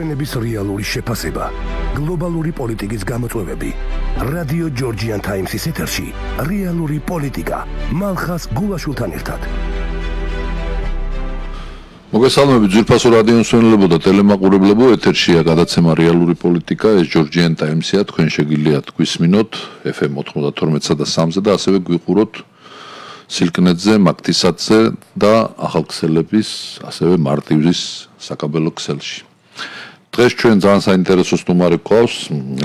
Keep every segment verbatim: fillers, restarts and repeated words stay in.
მოვლენების რეალური შეფასება, გლობალური პოლიტიკის გამოწვევები. რადიო ჯორჯიან ტაიმსის ეთერში რეალური პოლიტიკა მალხას გულაშვილთან ერთად. მოგესალმებით ძვირფასო რადიო მსმენელებო და ტელემაყურებლებო, ეთერშია გადაცემა რეალური პოლიტიკა, ეს ჯორჯიან ტაიმსია, თქვენ შეგიძლიათ გვისმინოთ ეფ ემ ოცდათორმეტსა და სამზე და ასევე გვიყუროთ სილკნეტზე, მაგთისათზე და ახალქსელების, ასევე მარტივის საკაბელო ქსელში. დღეს ჩვენ ძალიან საინტერესო სტუმარი გვყავს,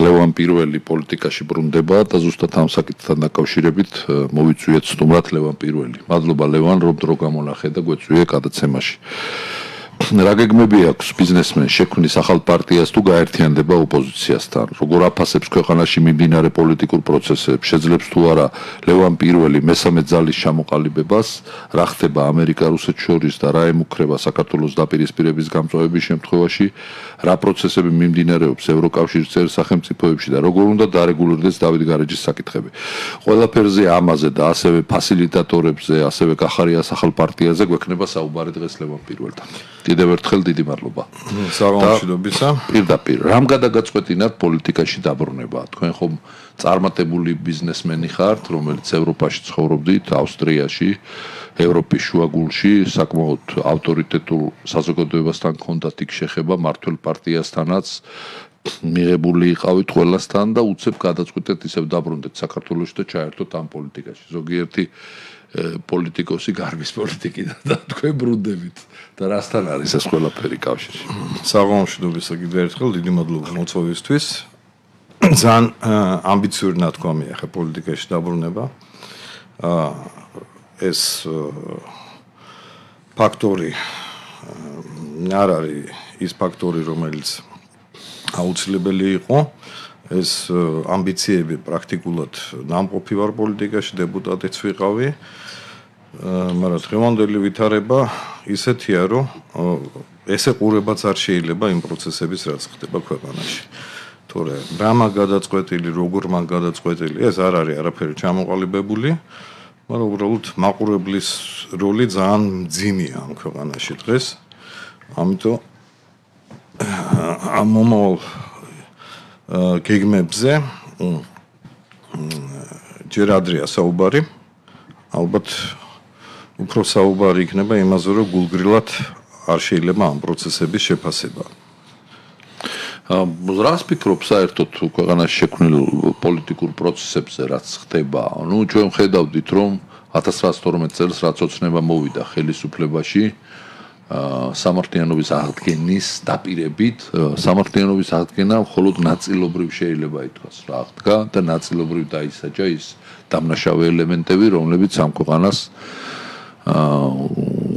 ლევან პირველი პოლიტიკაში ბრუნდება და ზუსტად ამ საკითხთან დაკავშირებით მოვიწვიეთ სტუმრად ლევან პირველი. მადლობა ლევან, რომ დრო გამონახე და გვეწვიე გადაცემაში. რა გეგმები აქვს ბიზნესმენ შექმნის ახალ პარტიას თუ გაერთიანდება ოპოზიციასთან? როგორ აფასებს ქვეყანაში მიმდინარე პოლიტიკურ პროცესებს? შეძლებს თუ არა ლევან პირველი მესამე ძალის ჩამოყალიბებას? რა ხდება ამერიკა-რუსეთს შორის და რა ემუქრება საქართველოს დაპირისპირების გამწვავების შემთხვევაში? რა პროცესები მიმდინარეობს ევროკავშირის წევრ სახელმწიფოებში და როგორ უნდა დარეგულირდეს დავით გარეჯის საკითხები? ყველაფერზე ამაზე და ასევე ფასილიტატორებზე, ასევე კახარიას ახალ პარტიაზე გვექნება საუბარი დღეს ლევან პირველთან. კიდევ ერთხელ დიდი მადლობა. საღამოშიდობისა. პირდაპირ, რამ გადაგაწყვეტინათ პოლიტიკაში დაბრუნება? თქვენ ხომ წარმატებული ბიზნესმენი ხართ, რომელიც ევროპაში ცხოვრობდით, ავსტრიაში, ევროპის შუაგულში, საკმაოდ ავტორიტეტულ საზოგადოებასთან გქონდათ იქ შეხება, მართველ პარტიასთანაც მიღებული იყავით ყველასთან და უცებ გადაწყვეტეთ ისევ დაბრუნდეთ საქართველოში და ჩაერთოთ ამ პოლიტიკაში. ზოგიერთი პოლიტიკოსი გარბის პოლიტიკიდან და თქვენ ბრუნდებით და რასთან არის ეს ყველაფერი კავშირში? საღამოშიდობისა კიდევ ერთხელ დიდი მადლობა მოწვევისთვის. ძალიან ამბიციური ნათქვამია ხა პოლიტიკაში დაბრუნება. ეს ფაქტორი არ არის ის ფაქტორი, რომელიც აუცილებელი იყო. ეს ამბიციები პრაქტიკულად ნამყოფი ვარ პოლიტიკაში, დეპუტატიც ვიყავი. მაგრამ დღევანდელი ვითარება ისეთია, რომ ესე ყურებაც არ შეიძლება იმ პროცესების, რაც ხდება ქვეყანაში. თორე რა მაგ გადაწყვეტილი, როგორ მაგ გადაწყვეტილი, ეს არ არის არაფერი ჩამოყალიბებული, მაგრამ უბრალოდ მაყურებლის როლი ძალიან მძიმეა ამ ქვეყანაში დღეს. ამიტომ ამ მომავალ გეგმებზე ჯერ ადრეა საუბარი. ალბათ უფრო საუბარი იქნება იმაზე, რომ გულგრილად არ შეიძლება ამ პროცესების შეფასება. რას ფიქრობ საერთოდ ქვეყანაში შექმნილ პოლიტიკურ პროცესებზე, რაც ხდება? ნუ ჩვენ ხედავდით, რომ ათას რვაასი თორმეტ წელს რაც ოცნება მოვიდა ხელისუფლებაში, სამართლიანობის აღდგენის დაპირებით, სამართლიანობის აღდგენა მხოლოდ ნაწილობრივ შეიძლება ითქვას რა აღდგა და ნაწილობრივ დაისაჯა ის დამნაშავე ელემენტები, რომლებიც ამ ქვეყანას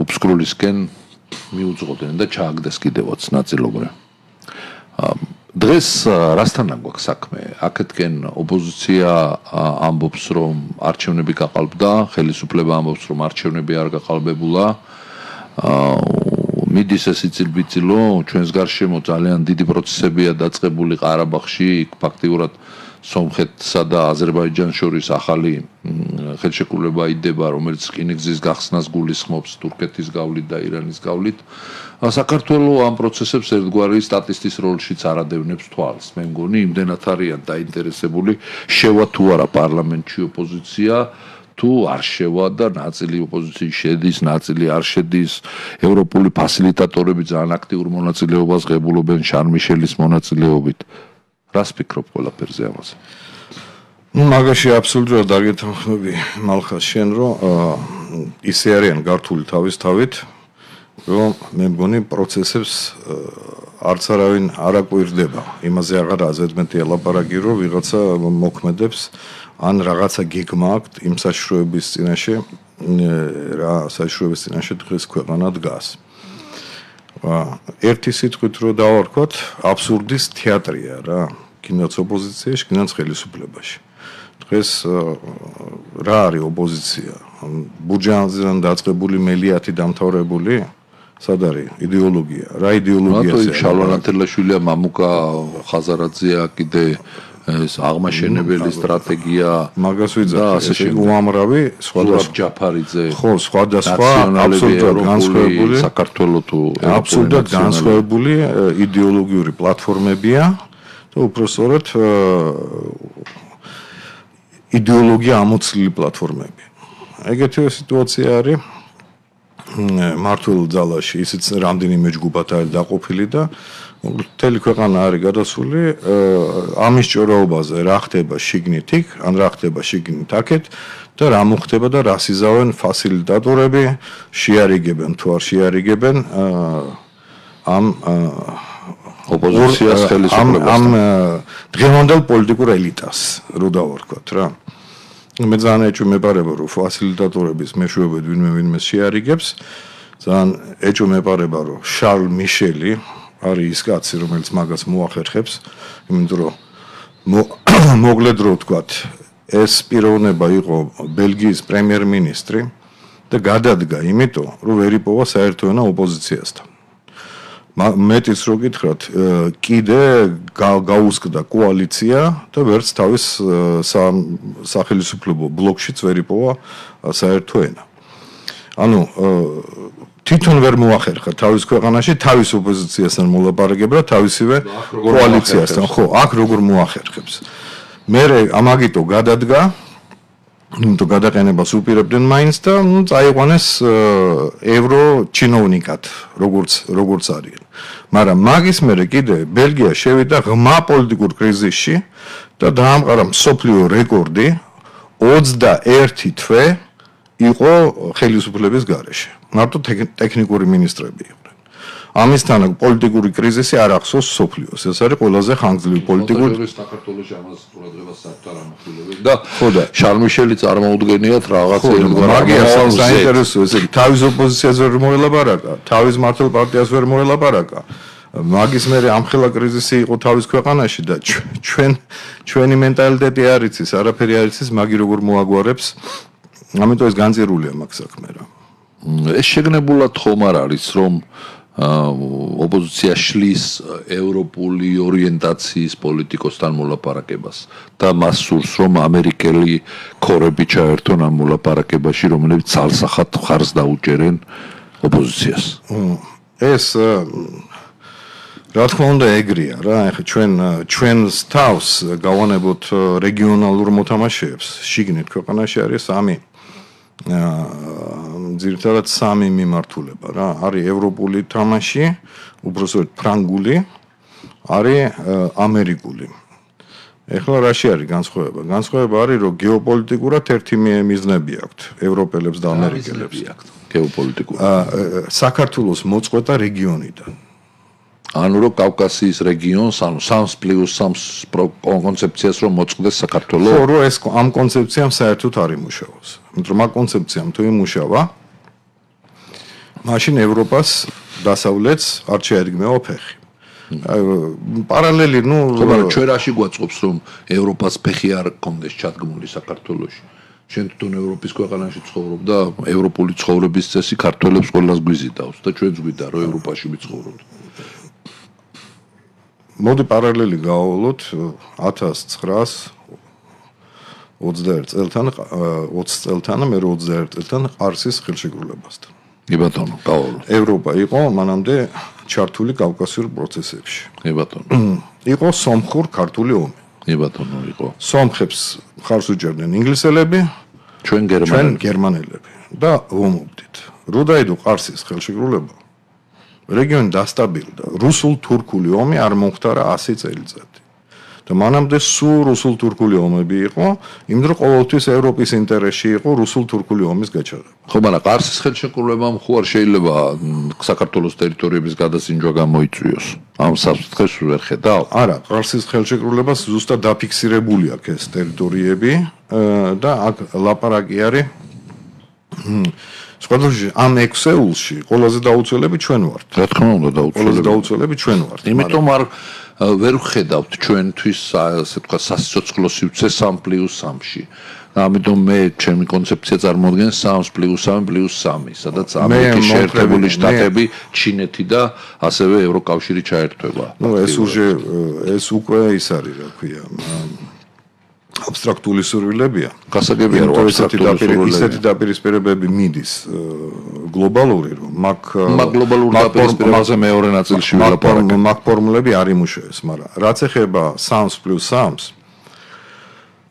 უბსკრულისკენ მიუძღოდნენ და ჩააგდეს კიდევაც ნაწილობრივ. დღეს რასთან გვაქვს საქმე? აქეთკენ ოპოზიცია ამბობს, რომ არჩევნები გაყალბდა, ხელისუფლება ამბობს, რომ არჩევნები არ გაყალბებულა. მიდის ეს იცილბიცილო, ჩვენს გარშემო ძალიან დიდი პროცესებია დაწყებული ყარაბაღში, იქ ფაქტიურად სომხეთსა და აზერბაიჯანს შორის ახალი ხელშეკრულება იდება, რომელიც რკინიგზის გახსნას გულისხმობს თურქეთის გავლით და ირანის გავლით. საქართველოს ამ პროცესებს ერთგვარი სტატისტის როლშიც არ ადევნებს თვალს. მე მგონი იმდენად არიან დაინტერესებული, შევა თუ არა პარლამენტში ოპოზიცია, თუ არ შევა და ნაწილი ოპოზიციის შედის, ნაწილი არ შედის. ევროპული ფასილიტატორები ძალიან აქტიურ მონაწილეობას ღებულობენ შარლ მიშელის მონაწილეობით. რას ფიქრობ ყველაფერზე ამაზე? ნუ მაგაში აბსოლუტურად არ გეთანხმები მალხას შენ, რომ ისე არიან გართული თავის თავით, რომ მე მგონი პროცესებს არც არავინ არ აკვირდება. იმაზე აღარ აზედმეტი ელაპარაკი, რომ ვიღაცა მოქმედებს ან რაღაცა გეგმა აქვს იმ საშიშროების წინაშე, რა საშიშროების წინაშე დღეს ქვეყანა დგას. ერთი სიტყვით რო დავარქვათ, აბსურდის თეატრია რა, კიდაც ოპოზიციაში, კიდაც ხელისუფლებაში. დღეს რა არის ოპოზიცია? ბურჟუაზიიდან დაწყებული მელიათი დამთავრებული? სად არის იდეოლოგია? რა იდეოლოგიაა? რატო შალვა ნათელაშვილია, მამუკა ხაზარაძეა, კიდე ეს აღმაშენებელი სტრატეგია მაგას ვიძახი ეს უამრავი სხვადასხვა ჯაფარიძე ხო სხვადასხვა აბსოლუტურად განსხვავებული საქართველოს თუ აბსოლუტურად განსხვავებული იდეოლოგიური პლატფორმებია და უпростоრად იდეოლოგია ამოცლილი პლატფორმები ეგეთივე სიტუაცია არის მართულ ძალაში ისიც რამდენიმე ჯგუფად არის დაყოფილი და მთელი ქვეყანა არის გადასული ამის ჭორაობაზე რა ხდება შიგნით იქ ან რა ხდება შიგნით აქეთ და რა მოხდება და რა სიზავენ ფასილიტატორები შეარიგებენ თუ არ შეარიგებენ ამ ოპოზიციას ხელისუფლებას ამ დღევანდელ პოლიტიკურ ელიტას რო დავარქვათ რა მე ძალიან ეჭვმეპარება რომ ფასილიტატორების მეშვეობით ვინმე ვინმე შეარიგებს ძალიან ეჭვმეპარება რომ შარლ მიშელი არის ის კაცი რომელიც მაგას მოახერხებს იმიტომ რომ მოგლედ რო ვთქვათ ეს პიროვნება იყო ბელგიის პრემიერ-მინისტრი და გადადგა იმიტომ რომ ვერ იპოვა საერთო ენა ოპოზიციასთან მეტიც რო გითხრათ კიდე გაუსკდა კოალიცია და ვერც თავის სახელმწიფო ბლოკშიც ვერ იპოვა საერთო ენა ანუ თვითონ ვერ მოახერხა თავის ქვეყანაში თავის ოპოზიციასთან მოლაპარაკება და თავისივე კოალიციასთან ხო აქ როგორ მოახერხებს მე ამაგიტო გადადგა იმიტომ გადაყენებას უპირებდნენ მაინც და ნუ წაიყვანეს ევრო ჩინოვნიკად როგორც როგორც არის მაგრამ მაგის მერე კიდე ბელგია შევიდა ღმა პოლიტიკურ კრიზისში და დაამყარა მსოფლიო რეკორდი ოცდაერთი თვე იყო ხელისუფლების გარეშე მარტო ტექნიკური ministrები იყვნენ ამისთან პოლიტიკური კრიზისი არ ახსოვს სოფლიოს ეს არის ყველაზე ხანგრძლივი პოლიტიკური საქართველოს ამას ყურადღებას საერთოდ არ ამახვილებენ და ხოდა შარლ მიშელი წარმოუდგენიათ რაღაც მაგიას საინტერესო ესე იგი თავის ოპოზიციას ვერ მოელაპარაკა თავის მართლ პარტიას ვერ მოელაპარაკა მაგის მერე ამხელა კრიზისი იყო თავის ქვეყანაში და ჩვენ ჩვენი მენტალიტეტი არ იცის არაფერი არ იცის მაგი როგორ მოაგვარებს ამიტომ ეს განწირულია მაგ საქმე რა ეს შეგნებულად ხომ არ არის რომ ოპოზიცია შლის ევროპული ორიენტაციის პოლიტიკოსთან მოლაპარაკებას და მას სურს რომ ამერიკელი ქორები ჩაერთონ ამ მოლაპარაკებაში რომლებიც ძალსახად ხარს დაუჭერენ ოპოზიციას ეს რა თქმა უნდა ეგრეა რა ეხლა ჩვენ ჩვენს თავს გავანებოთ რეგიონალურ მოთამაშეებს შიგნით ქვეყანაში არის სამი ძირითადად სამი მიმართულება რა არის ევროპული თამაში უბრალოდ ფრანგული არის ამერიკული ეხლა რაში არის განსხვავება განსხვავება არის რომ გეოპოლიტიკურად ერთი მიზნები აქვთ ევროპელებს და ამერიკელებს გეოპოლიტიკურად საქართველოს მოწყვეტა რეგიონიდან ანუ რომ კავკასიის რეგიონს ანუ სამს პლუს სამს კონცეფციას რომ მოწყდეს საქართველოს ხო რომ ეს ამ კონცეფციამ საერთოდ არ იმუშავოს იმიტომ რომ ამ კონცეფციამ თუ იმუშავა მაშინ ევროპას დასავლეთს არ შეადგმევა ფეხი პარალელი ნუ მაგრამ ჩვენ რაში გვაწყობს რომ ევროპას ფეხი არ კონდეს ჩადგმული საქართველოში შენ თვითონ ევროპის ქვეყანაში ცხოვრობ და ევროპული ცხოვრების წესი ქართველებს ყველას გვიზიდავს და ჩვენც გვიდა რომ ევროპაში ვიცხოვროთ მოდი პარალელი გავავლოთ ათას ცხრაას ოცდაერთ წელთან ოცი წელთან მე ოცდაერთ წელთან ყარსის ხელშეკრულებასთან კი ბატონო გავავლოთ ევროპა იყო მანამდე ჩართული კავკასიურ პროცესებში კი ბატონო იყო სომხურ ქართული ომი კი ბატონო იყო სომხებს ხარს უჭერდნენ ინგლისელები ჩვენ გერმანელები ჩვენ გერმანელები და ომობდით რო დაიდო ყარსის ხელშეკრულება რეგიონი დასტაბილდა რუსულ-თურქული ომი არ მომხდარა ასი წელიწადი და მანამდე სულ რუსულ-თურქული ომები იყო იმიტომ რომ ყოველთვის ევროპის ინტერესში იყო რუსულ-თურქული ომის გაჩაღება ხო მაგრამ ყარსის ხელშეკრულებამ ხო არ შეიძლება საქართველოს ტერიტორიების გადასინჯვა გამოიწვიოს ამ საფრთხეს ვერ ხედავ არა ყარსის ხელშეკრულებას ზუსტად დაფიქსირებული აქვს ეს ტერიტორიები და აქ ლაპარაკი არის სხვადასხვა ამ ექსეულში ყველაზე დაუცველები ჩვენ ვართ. რა თქმა უნდა დაუცველები. ყველაზე დაუცველები ჩვენ ვართ. იმიტომ არ ვერ ვხედავთ ჩვენთვის ასე თქვა სასიცოცხლო სივრცე სამ პლუს სამში. ამიტომ მე ჩემი კონცეფცია წარმოადგენს სამს პლუს სამი პლუს სამი, სადაც ამერიკის შეერთებული შტატები, ჩინეთი და ასევე ევროკავშირი ჩაერთვება. ნუ ეს უშე ეს უკვე ის არის, რა ქვია. აბსტრაქტული სურვილებია. გასაგებია რომ აბსტრაქტული სურვილები ისეთი დაპირისპირებები მიდის გლობალური რომ მაგ მაგ გლობალურ დაპირისპირებაზე მეორე ნაწილში ვილაპარაკე. მაგ ფორმულები არ იმუშავებს, მაგრამ რაც ეხება სამს პლუს სამს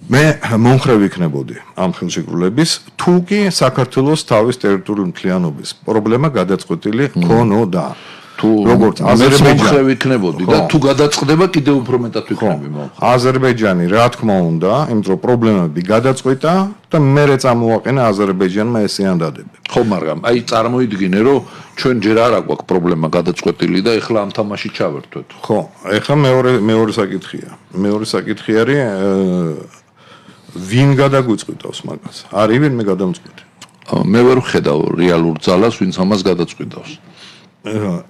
მე მომხრე ვიქნებოდი ამ ხელშეკრულების თუ კი საქართველოს თავის ტერიტორიული მთლიანობის პრობლემა გადაწყვეტილი ქონოდა. თუ როგორც აზერბაიჯანი ვიქნებოდი და თუ გადაწყდება კიდევ უფრო მეტად ვიქნები მომხრე. აზერბაიჯანი რა თქმა უნდა, იმიტომ რომ პრობლემები გადაწყვეტა და მერე წამოაყენა აზერბაიჯანმა ეს ეანდადები. ხო, მაგრამ აი წარმოიდგინე რომ ჩვენ ჯერ არ აქვს პრობლემა გადაწყვეტილი და ეხლა ამ თამაში ჩავერთვეთ. ხო, ეხლა მეორე მეორე საკითხია. მეორე საკითხი არის ვინ გადაგვიწყვიტავს მაგას? არის ვინმე გადამწყვეტი? მე ვერ ვხედავ რეალურ ძალას, ვინც ამას გადაწყვიტავს.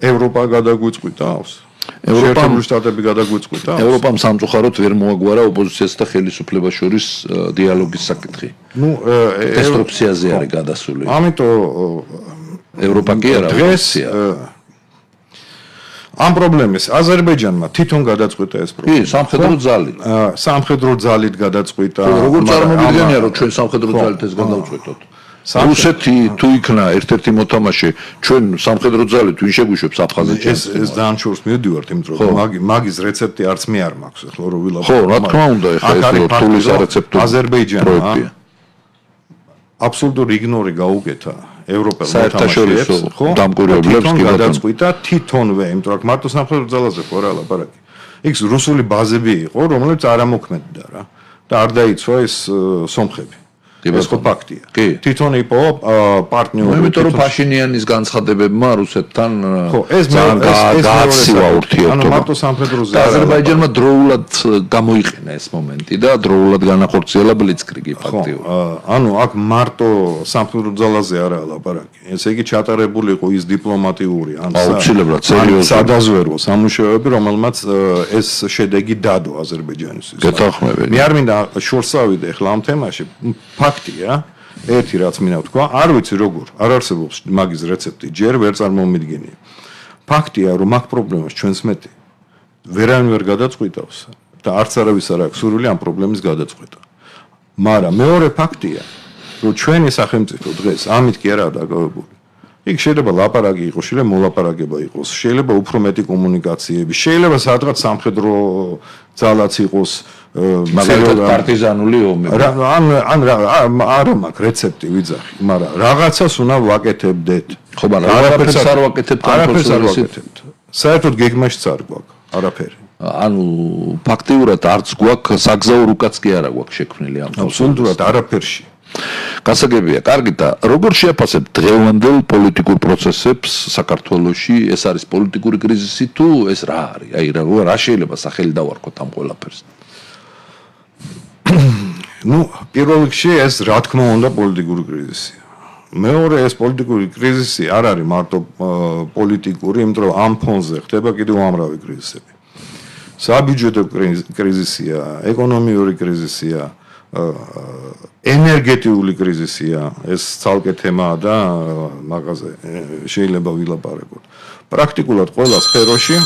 ევროპა გადაგვიწყვიტავს. ევროპამ შტატები გადაგვიწყვიტავს. ევროპამ სამწუხაროდ ვერ მოაგვარა ოპოზიციას და ხელისუფლებას შორის დიალოგის საკითხი. ნუ დესტრუქციაზე არის გადასული. ამიტომ ევროპა კი არა ოპოზიცია. ამ პრობლემის აზერბაიჯანმა თვითონ გადაწყვიტა ეს პრობლემა. კი, სამხედრო ძალით. სამხედრო ძალით გადაწყვიტა. როგორ წარმოვიდგენია რომ ჩვენ სამხედრო ძალით ეს გადავწყვეტოთ? რუსეთი თუ იქნა ერთ-ერთი მოთამაშე ჩვენ სამხედრო ძალით ვინ შეგვიშვებს აფხაზეთს? ეს ეს ძალიან შორს მივდივართ, იმიტომ რომ მაგი მაგის რეცეპტი არც მე არ მაქვს, ახლა რომ ვილაპარაკო. ხო, რა თქმა უნდა, ეხლა ეს რთულის რეცეპტი აზერბაიჯანმა აბსოლუტური იგნორი გაუკეთა ევროპელ მოთამაშეებს, ხო? დამკვირვებლებს კი გადაწყვიტა თვითონვე, იმიტომ რომ მარტო სამხედრო ძალაზე ხო რა ლაპარაკი. იქ რუსული ბაზები იყო, რომლებიც არ ამოქმედდა რა და არ დაიცვა ეს სომხები. ეს ხო ფაქტია. თვითონ იყო პარტნიორი. იმიტომ რომ ფაშინიანის განცხადებებმა რუსეთთან ხო, ეს გააცივა ურთიერთობა. ანუ მარტო სამხედროზე და აზერბაიჯანმა დროულად გამოიყენა ეს მომენტი და დროულად განახორციელა ბლიცკრიგი ფაქტიურად. ანუ აქ მარტო სამხედრო ძალაზე არაა ლაპარაკი. ესე იგი ჩატარებული იყო ის დიპლომატიური ან აუცილებლად სერიოზული სადაზვერო სამუშაოები, რომელმაც ეს შედეგი დადო აზერბაიჯანისთვის. გეთანხმებია. მე არ მინდა შორს ავიდე ახლა ამ თემაში. ფაქტია, ერთი რაც მინდა ვთქვა, არ ვიცი როგორ, არ არსებობს მაგის რეცეპტი, ჯერ ვერ წარმომიდგენია. ფაქტია, რომ მაგ პრობლემას ჩვენს მეტი ვერავინ ვერ გადაწყვიტავს და არც არავის არ აქვს სურვილი ამ პრობლემის გადაწყვეტა. მაგრამ მეორე ფაქტია, რომ ჩვენი სახელმწიფო დღეს ამით კი არაა დაკავებული. იქ შეიძლება ლაპარაკი იყოს, შეიძლება მოლაპარაკება იყოს, შეიძლება უფრო მეტი კომუნიკაციები, შეიძლება სადღაც სამხედრო ძალაც იყოს, მაგალითად პარტიზანული ომი. ან ან არა მაქვს რეცეპტი ვიძახი, მაგრამ რაღაცას უნდა ვაკეთებდეთ. ხო, მაგრამ არაფერს არ ვაკეთებთ, არაფერს არ ვაკეთებთ. საერთოდ გეგმაშიც არ გვაქვს არაფერი. ანუ ფაქტიურად არც გვაქვს საგზაო რუკაც კი არა გვაქვს შექმნილი ამ აბსოლუტურად არაფერში. გასაგებია, კარგი და როგორ შეაფასებთ დღევანდელ პოლიტიკურ პროცესებს საქართველოში? ეს არის პოლიტიკური კრიზისი თუ ეს რა არის? აი რა შეიძლება სახელი დავარქოთ ამ ყველაფერს? ნუ პირველ რიგში ეს რა თქმა უნდა პოლიტიკური კრიზისია. მეორე ეს პოლიტიკური კრიზისი არ არის მარტო პოლიტიკური, იმიტომ რომ ამ ფონზე ხდება კიდევ უამრავი კრიზისები. საბიუჯეტო კრიზისია, ეკონომიური კრიზისია, ენერგეტიული კრიზისია, ეს ცალკე თემაა და მაგაზე შეიძლება ვილაპარაკოთ. პრაქტიკულად ყველა სფეროში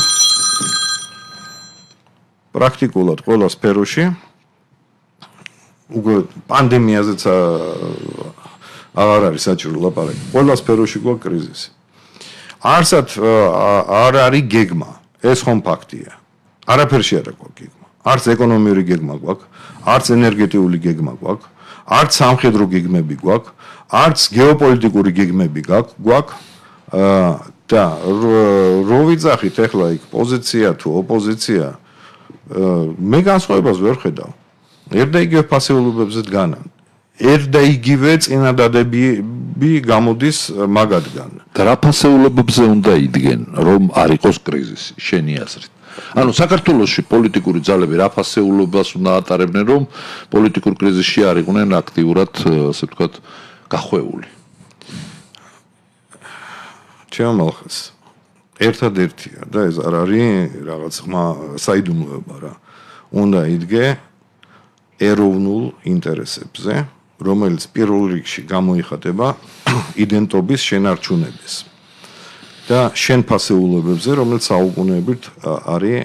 პრაქტიკულად ყველა სფეროში უკვე პანდემიაზეც აღარ არის საჭირო ლაპარაკი. ყველა სფეროში გვაქვს კრიზისი. არსად არ არის გეგმა, ეს ხომ ფაქტია. არაფერში არ აქვს გეგმა. არც ეკონომიური გეგმა გვაქვს, არც ენერგეტიული გეგმა გვაქვს, არც სამხედრო გეგმები გვაქვს, არც გეოპოლიტიკური გეგმები გვაქვს. და რო ვიძახით ახლა იქ პოზიცია თუ ოპოზიცია, მე განსხვავებას ვერ ხედავ. ერთ და იგივე ფასეულობებზე დგანან. ერთ და იგივე წინადადებები გამოდის მაგადგან. და რა ფასეულობებზე უნდა იდგენ, რომ არ იყოს კრიზისი, შენი აზრით? ანუ საქართველოში პოლიტიკური ძალები რა ფასეულობას უნდა ატარებდნენ, რომ პოლიტიკურ კრიზისში არ იყვნენ აქტიურად, ასე ვთქვათ, გახვეული? ჩემალხეს ერთადერთია და ეს არ არის რაღაც ხმა საიდუმლოება რა. უნდა იდგე ეროვნულ ინტერესებზე, რომელიც პირველ რიგში გამოიხატება იდენტობის შენარჩუნების და შენ ფასეულობებზე, რომელიც საუკუნეებით არის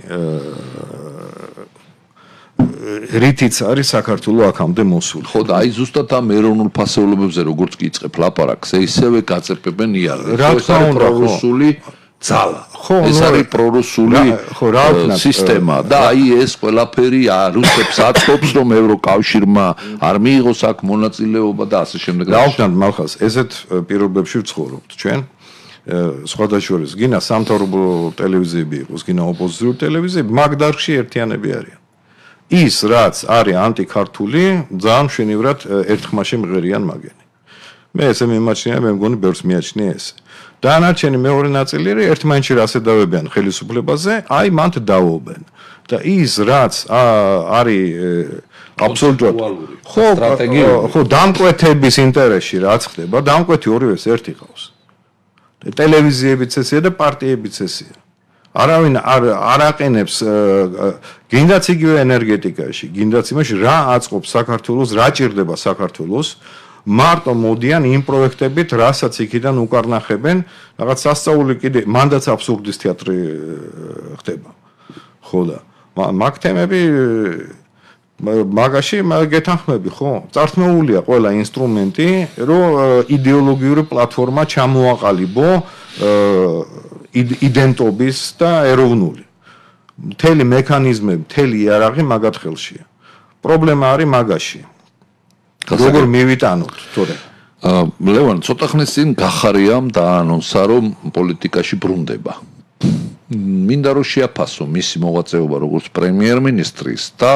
რითიც არის საქართველო აქამდე მოსული. ხო და აი ზუსტად ამ ეროვნულ ფასეულობებზე როგორც კი იწყებ ლაპარაკს, ისევე გაწეპებენ იარაღს. ეს არის პრორუსული ძალა. ხო, ეს არის პრორუსული სისტემა და აი ეს ყველაფერი რუსებს აწყობს, რომ ევროკავშირმა არ მიიღოს აქ მონაწილეობა და ასე შემდეგ. დავხსნათ მალხას, ესეთ პირობებში ვცხოვრობთ ჩვენ. სხვადასხვა გინა სამთავრობო ტელევიზიები იყოს, გინა ოპოზიციური ტელევიზიები, მაგ დარგში ერთიანები არიან. ის რაც არის ანტიქართული, ძალიან მშვენივრად ერთხმაში მღერიან მაგენი. მე ესე მიმაჩნია, მე მგონი ბევრს მიაჩნია ეს. დანარჩენი მეორე ნაწილი ერთმანეთში რასედავებიან ხელისუფლებაზე, აი მანდ დაობენ. და ის რაც არის აბსოლუტურად ხო, ხო, დამკვეთების ინტერესში რაც ხდება, დამკვეთი ორივეს ერთი ყავს. ტელევიზიებიც ესეა და პარტიებიც ესეა. არავინ არ არ აყენებს გინდაც იგივე ენერგეტიკაში, გინდაც იმაში რა აწყობს საქართველოს, რა ჭირდება საქართველოს, მარტო მოდიან იმ პროექტებით, რასაც იქიდან უკარნახებენ, რაღაც სასწაული კიდე მანდაც აბსურდის თეატრი ხდება. ხო და მაგ თემები მაგაში გეთანხმები, ხო? წართმეულია ყველა ინსტრუმენტი, რომ იდეოლოგიური პლატფორმა ჩამოაყალიბო იდენტობის და ეროვნული. მთელი მექანიზმები, მთელი იარაღი მაგათ ხელშია. პრობლემა არის მაგაში. როგორ მივიტანოთ, თორე ლევან, ცოტა ხნის წინ გახარიამ დაანონსა, რომ პოლიტიკაში ბრუნდება. მინდა რომ შეაფასო მისი მოღვაწეობა როგორც პრემიერ-მინისტრის და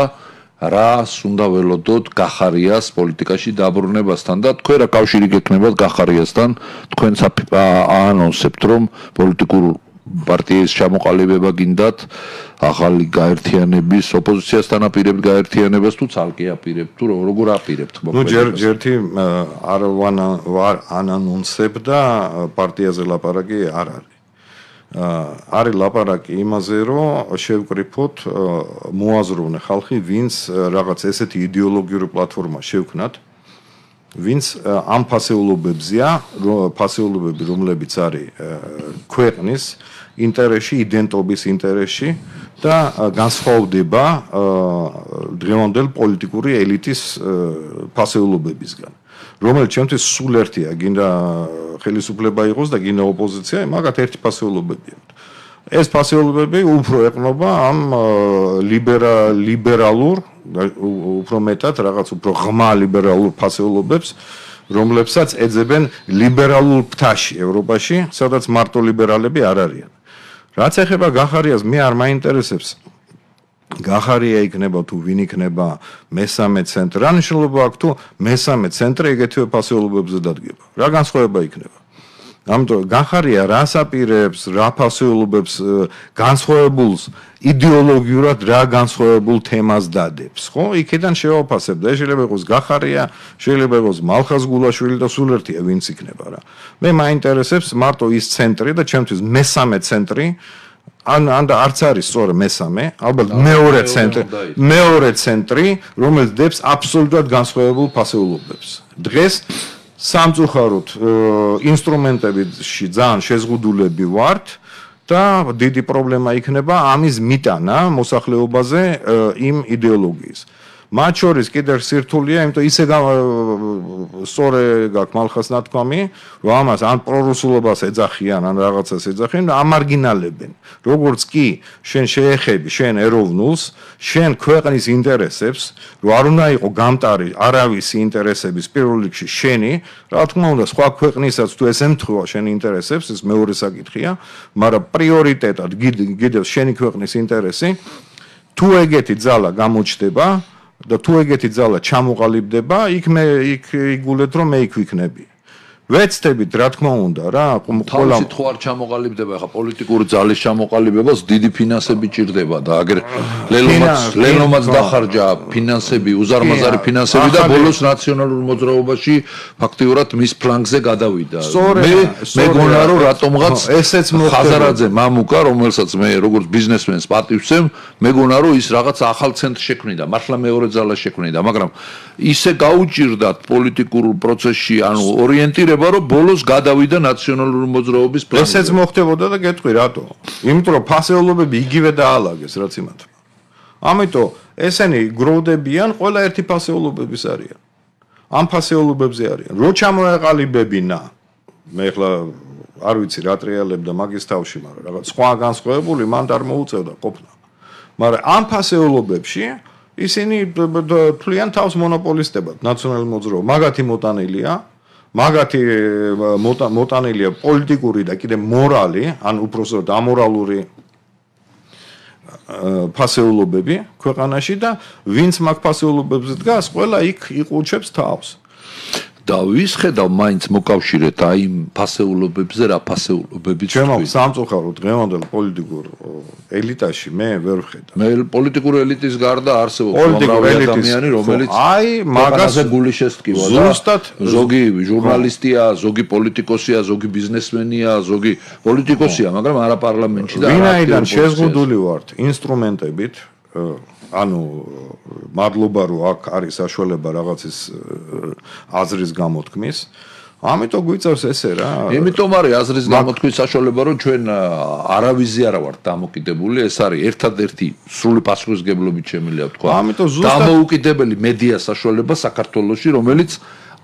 რას უნდა ველოდოთ გახარიას პოლიტიკაში დაბრუნებასთან და თქვენ რა კავშირი გექნებათ გახარიასთან, თქვენც აანონსებთ, რომ პოლიტიკურ პარტიის ჩამოყალიბება გინდათ, ახალი გაერთიანების ოპოზიციასთან აპირებთ გაერთიანებას თუ ცალკე აპირებთ თუ როგორ აპირებთ? ნუ ჯერ ჯერთი არ ვარ ანონსებ და პარტიაზე ლაპარაკი არ არის. არის ლაპარაკი იმაზე, რომ შევკრიფოთ მოაზროვნე ხალხი, ვინც რაღაც ესეთი იდეოლოგიური პლატფორმა შევქნათ, ვინც ამ ფასეულობებზია, ფასეულობები, რომლებიც არის ქვეყნის ინტერესში, იდენტობის ინტერესში და განსხვავდება დღევანდელ პოლიტიკური ელიტის ფასეულობებისგან. რომელიც ჩემთვის სულ ერთია, გინდა ხელისუფლება იყოს და გინდა ოპოზიცია, მაგათ ერთი ფასეულობები აქვს. ეს ფასეულობები უფრო ეყრდნობა ამ ლიბერალურ, უფრო მეტად რაღაც უფრო ღრმა ლიბერალურ ფასეულობებს, რომლებსაც ეძებენ ლიბერალურ ფთაში ევროპაში, სადაც მარტო ლიბერალები არ არიან. რაც ეხება გახარიას, მე არ მაინტერესებს გახარია იქნება თუ ვინ იქნება მესამე ცენტრი. რა მნიშვნელობა აქვს თუ მესამე ცენტრი ეგეთივე ფასეულობებზე დადგება? რა განსხვავება იქნება? ამიტომ გახარია რას აპირებს, რა ფასეულობებს განსხვავებულს იდეოლოგიურად რა განსხვავებულ თემას დადებს, ხო? იქიდან შევაფასებ და შეიძლება იყოს გახარია, შეიძლება იყოს მალხაზ გულაშვილი და სულ ერთია ვინც იქნება რა. მე მაინტერესებს მარტო ის ცენტრი და ჩემთვის მესამე ცენტრი ან ან და არც არის სწორ მესამე, ალბათ მეორე ცენტრი, მეორე ცენტრი, რომელიც დებს აბსოლუტურად განსხვავებულ ფასეულობებს. დღეს სამწუხაროდ ინსტრუმენტებში ძალიან შეზღუდულები ვართ და დიდი პრობლემა იქნება ამის მიტანა მოსახლეობაზე იმ იდეოლოგიის. მათ შორის კიდევ სირთულეა, იმიტომ ისე სწორე გაქვს მალხას ნათქვამი, რომ ამას ან პრორუსულობას ეძახიან, ან რაღაცას ეძახიან და ამარგინალებენ. როგორც კი შენ შეეხები შენ ეროვნულს, შენ ქვეყნის ინტერესებს, რომ არ უნდა იყო გამტარი არავის ინტერესების პირველ რიგში შენი, რა თქმა უნდა, სხვა ქვეყნისაც თუ ეს ემთხვევა შენ ინტერესებს, ეს მეორე საკითხია, მაგრამ პრიორიტეტად გიდევს შენი ქვეყნის ინტერესი, თუ ეგეთი ძალა გამოჩნდება და თუ ეგეთი ძალა ჩამოყალიბდება, იქ მე იქ იგულეთ რომ მე იქ ვიქნები. ვეცდებით რა თქმა უნდა რა, ყველა თუ არ ჩამოყალიბდება, ხა პოლიტიკური ძალის ჩამოყალიბებას დიდი ფინანსები ჭირდება და აგერ ლელომაც ლელომაც დახარჯა ფინანსები, უზარმაზარი ფინანსები და ბოლოს ნაციონალურ მოძრაობაში ფაქტიურად მის ფლანგზე გადავიდა. მე მეგონა რომ რატომღაც ესეც ხაზარაძე მამუკა, რომელსაც მე როგორც ბიზნესმენს პატივცემ, მეგონა რომ ის რაღაც ახალ ცენტრს შექმნიდა, მართლა მეორე ძალა შექმნიდა, მაგრამ ისე გაუჭირდათ პოლიტიკურ პროცესში, ანუ ორიენტირება რომ ბოლოს გადავიდა ნაციონალური მოძრაობის პლანზე. ესეც მოხდებოდა და გეტყვი რატო? იმიტომ რომ ფასეულობები იგივე დაალაგეს, რაც იმათ. ამიტომ ესენი გროვდებიან, ყველა ერთი ფასეულობების არიან. ამ ფასეულობებზე არიან. რო ჩამოეყალიბებინა, მე ახლა არ ვიცი რა ტრიალებდა მაგის თავში, მაგრამ რაღაც სხვა განსხვავებული მან არ მოუწევდა ყოფნა. მაგრამ ამ ფასეულობებში ისინი თვლიან თავს მონოპოლისტებად, ნაციონალურ მოძრაობას. მაგათი მოტანილია, მაგათი მოტანილია პოლიტიკური და კიდე მორალი, ან უпроსოდ ამორალური ფასეულობები ქვეყანაში და ვინც მაგ ფასეულობებზე დგას, ყველა იქ იყურჩებს თავს. და ვის ხედავ მაინც მოკავშირეთ აი იმ ფასეულობებზე რა ფასეულობებიც ჩემო სამწუხაროდ დღევანდელ პოლიტიკურ ელიტაში მე ვერ ვხედავ. მე პოლიტიკური ელიტის გარდა არსებობს უამრავი ადამიანი, რომელიც აი მაგაზე გული შესტკივა და ზუსტად ზოგი ჟურნალისტია, ზოგი პოლიტიკოსია, ზოგი ბიზნესმენია, ზოგი პოლიტიკოსია, მაგრამ არა პარლამენტში და ვინაიდან შეზღუდული ვართ ინსტრუმენტებით ანუ მადლობა რომ აქ არის საშუალება რაღაცის აზრის გამოთქმის. ამიტომ გვიწევს ესე რა. იმიტომ არის აზრის გამოთქმის საშუალება რომ ჩვენ არავიზი არა ვართ დამოკიდებული, ეს არის ერთადერთი სრული პასუხისმგებლობით შემიძლია ვთქვა. ამიტომ ზუსტად დამოუკიდებელი მედია საშუალება საქართველოში, რომელიც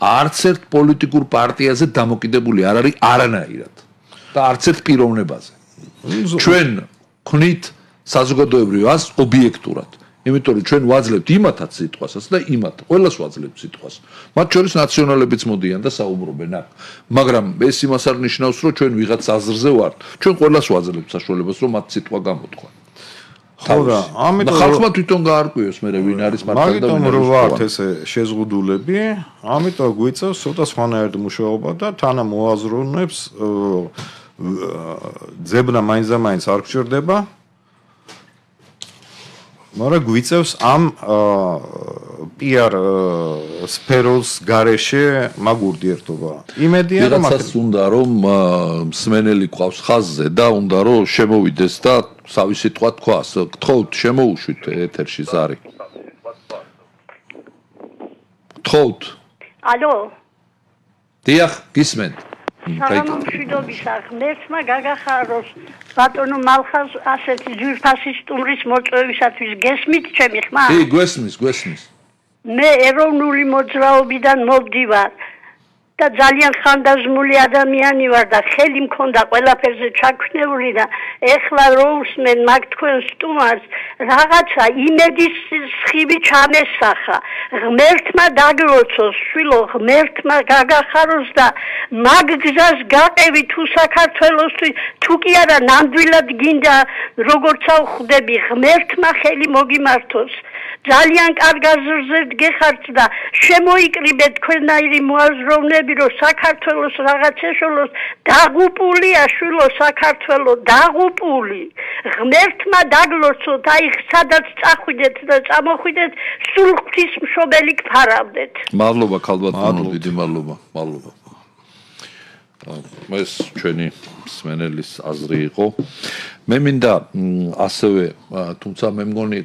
არც ერთ პოლიტიკურ პარტიაზე დამოკიდებული არ არის არანაირად და არც ერთ პიროვნებაზე. ჩვენ ვნით საზოგადოებრივ აზრს ობიექტურად. იმიტომ რომ ჩვენ ვაძლევთ იმათაც სიტყვასაც და იმათ ყველას ვაძლევთ სიტყვას. მათ შორის ნაციონალებიც მოდიან და საუბრობენ აქ. მაგრამ ეს იმას არ ნიშნავს რომ ჩვენ ვიღაც აზრზე ვართ. ჩვენ ყველას ვაძლევთ საშუალებას რომ მათ სიტყვა გამოთქვა. ხო და ამიტომ ხალხმა თვითონ გაარკვიოს მე ვინ არის მართლა და მაგიტომ რომ ვართ ესე შეზღუდულები, ამიტომ გვიწევს ცოტა სხვანაირად მუშაობა და თანამოაზროვნებს ძებნა მაინც და მაინც არ გჭირდება. მაგრამ გვიწევს ამ პიარ სფეროს გარეშე მაგ ურთიერთობა. იმედია რომ მაგას უნდა რომ მსმენელი ყავს ხაზზე და უნდა რომ შემოვიდეს და თავი სიტყვა თქვას. გთხოვთ შემოუშვით ეთერში ზარი. გთხოვთ. ალო. დიახ, გისმენთ. სამშვიდობისა ღმერთმა გაგახაროს ბატონო მალხაზ ასეთი ძვირფასი სტუმრის მოწვევისათვის გესმით ჩემი ხმა? კი, გვესმის, გვესმის. მე ეროვნული მოძრაობიდან მოვდივარ და ძალიან ხანდაზმული ადამიანი ვარ და ხელი მქონდა ყველაფერზე ჩაქვნეული და ეხლა რო უსმენ მაგ თქვენ სტუმარს რაღაცა იმედის სხივი ჩამესახა. ღმერთმა დაგლოცოს, შვილო, ღმერთმა გაგახაროს და მაგ გზას გაყევი თუ საქართველოსთვის, თუ კი არა ნამდვილად გინდა როგორც ავხვდები, ღმერთმა ხელი მოგიმართოს. ძალიან კარგ აზრზე გეხართ და შემოიკრიბეთ თქვენნაირი მოაზროვნეები, რომ საქართველოს რაღაც ეშოლოს დაღუპულია, შვილო, საქართველო დაღუპული. ღმერთმა დაგლოცოთ, აი სადაც წახვიდეთ და წამოხვიდეთ, სულ ღვთისმშობელი გფარავდეთ. მადლობა ქალბატონო, დიდი მადლობა, მადლობა. ეს ჩვენი მსმენელის აზრი იყო. მე მინდა ასევე, თუმცა მე მგონი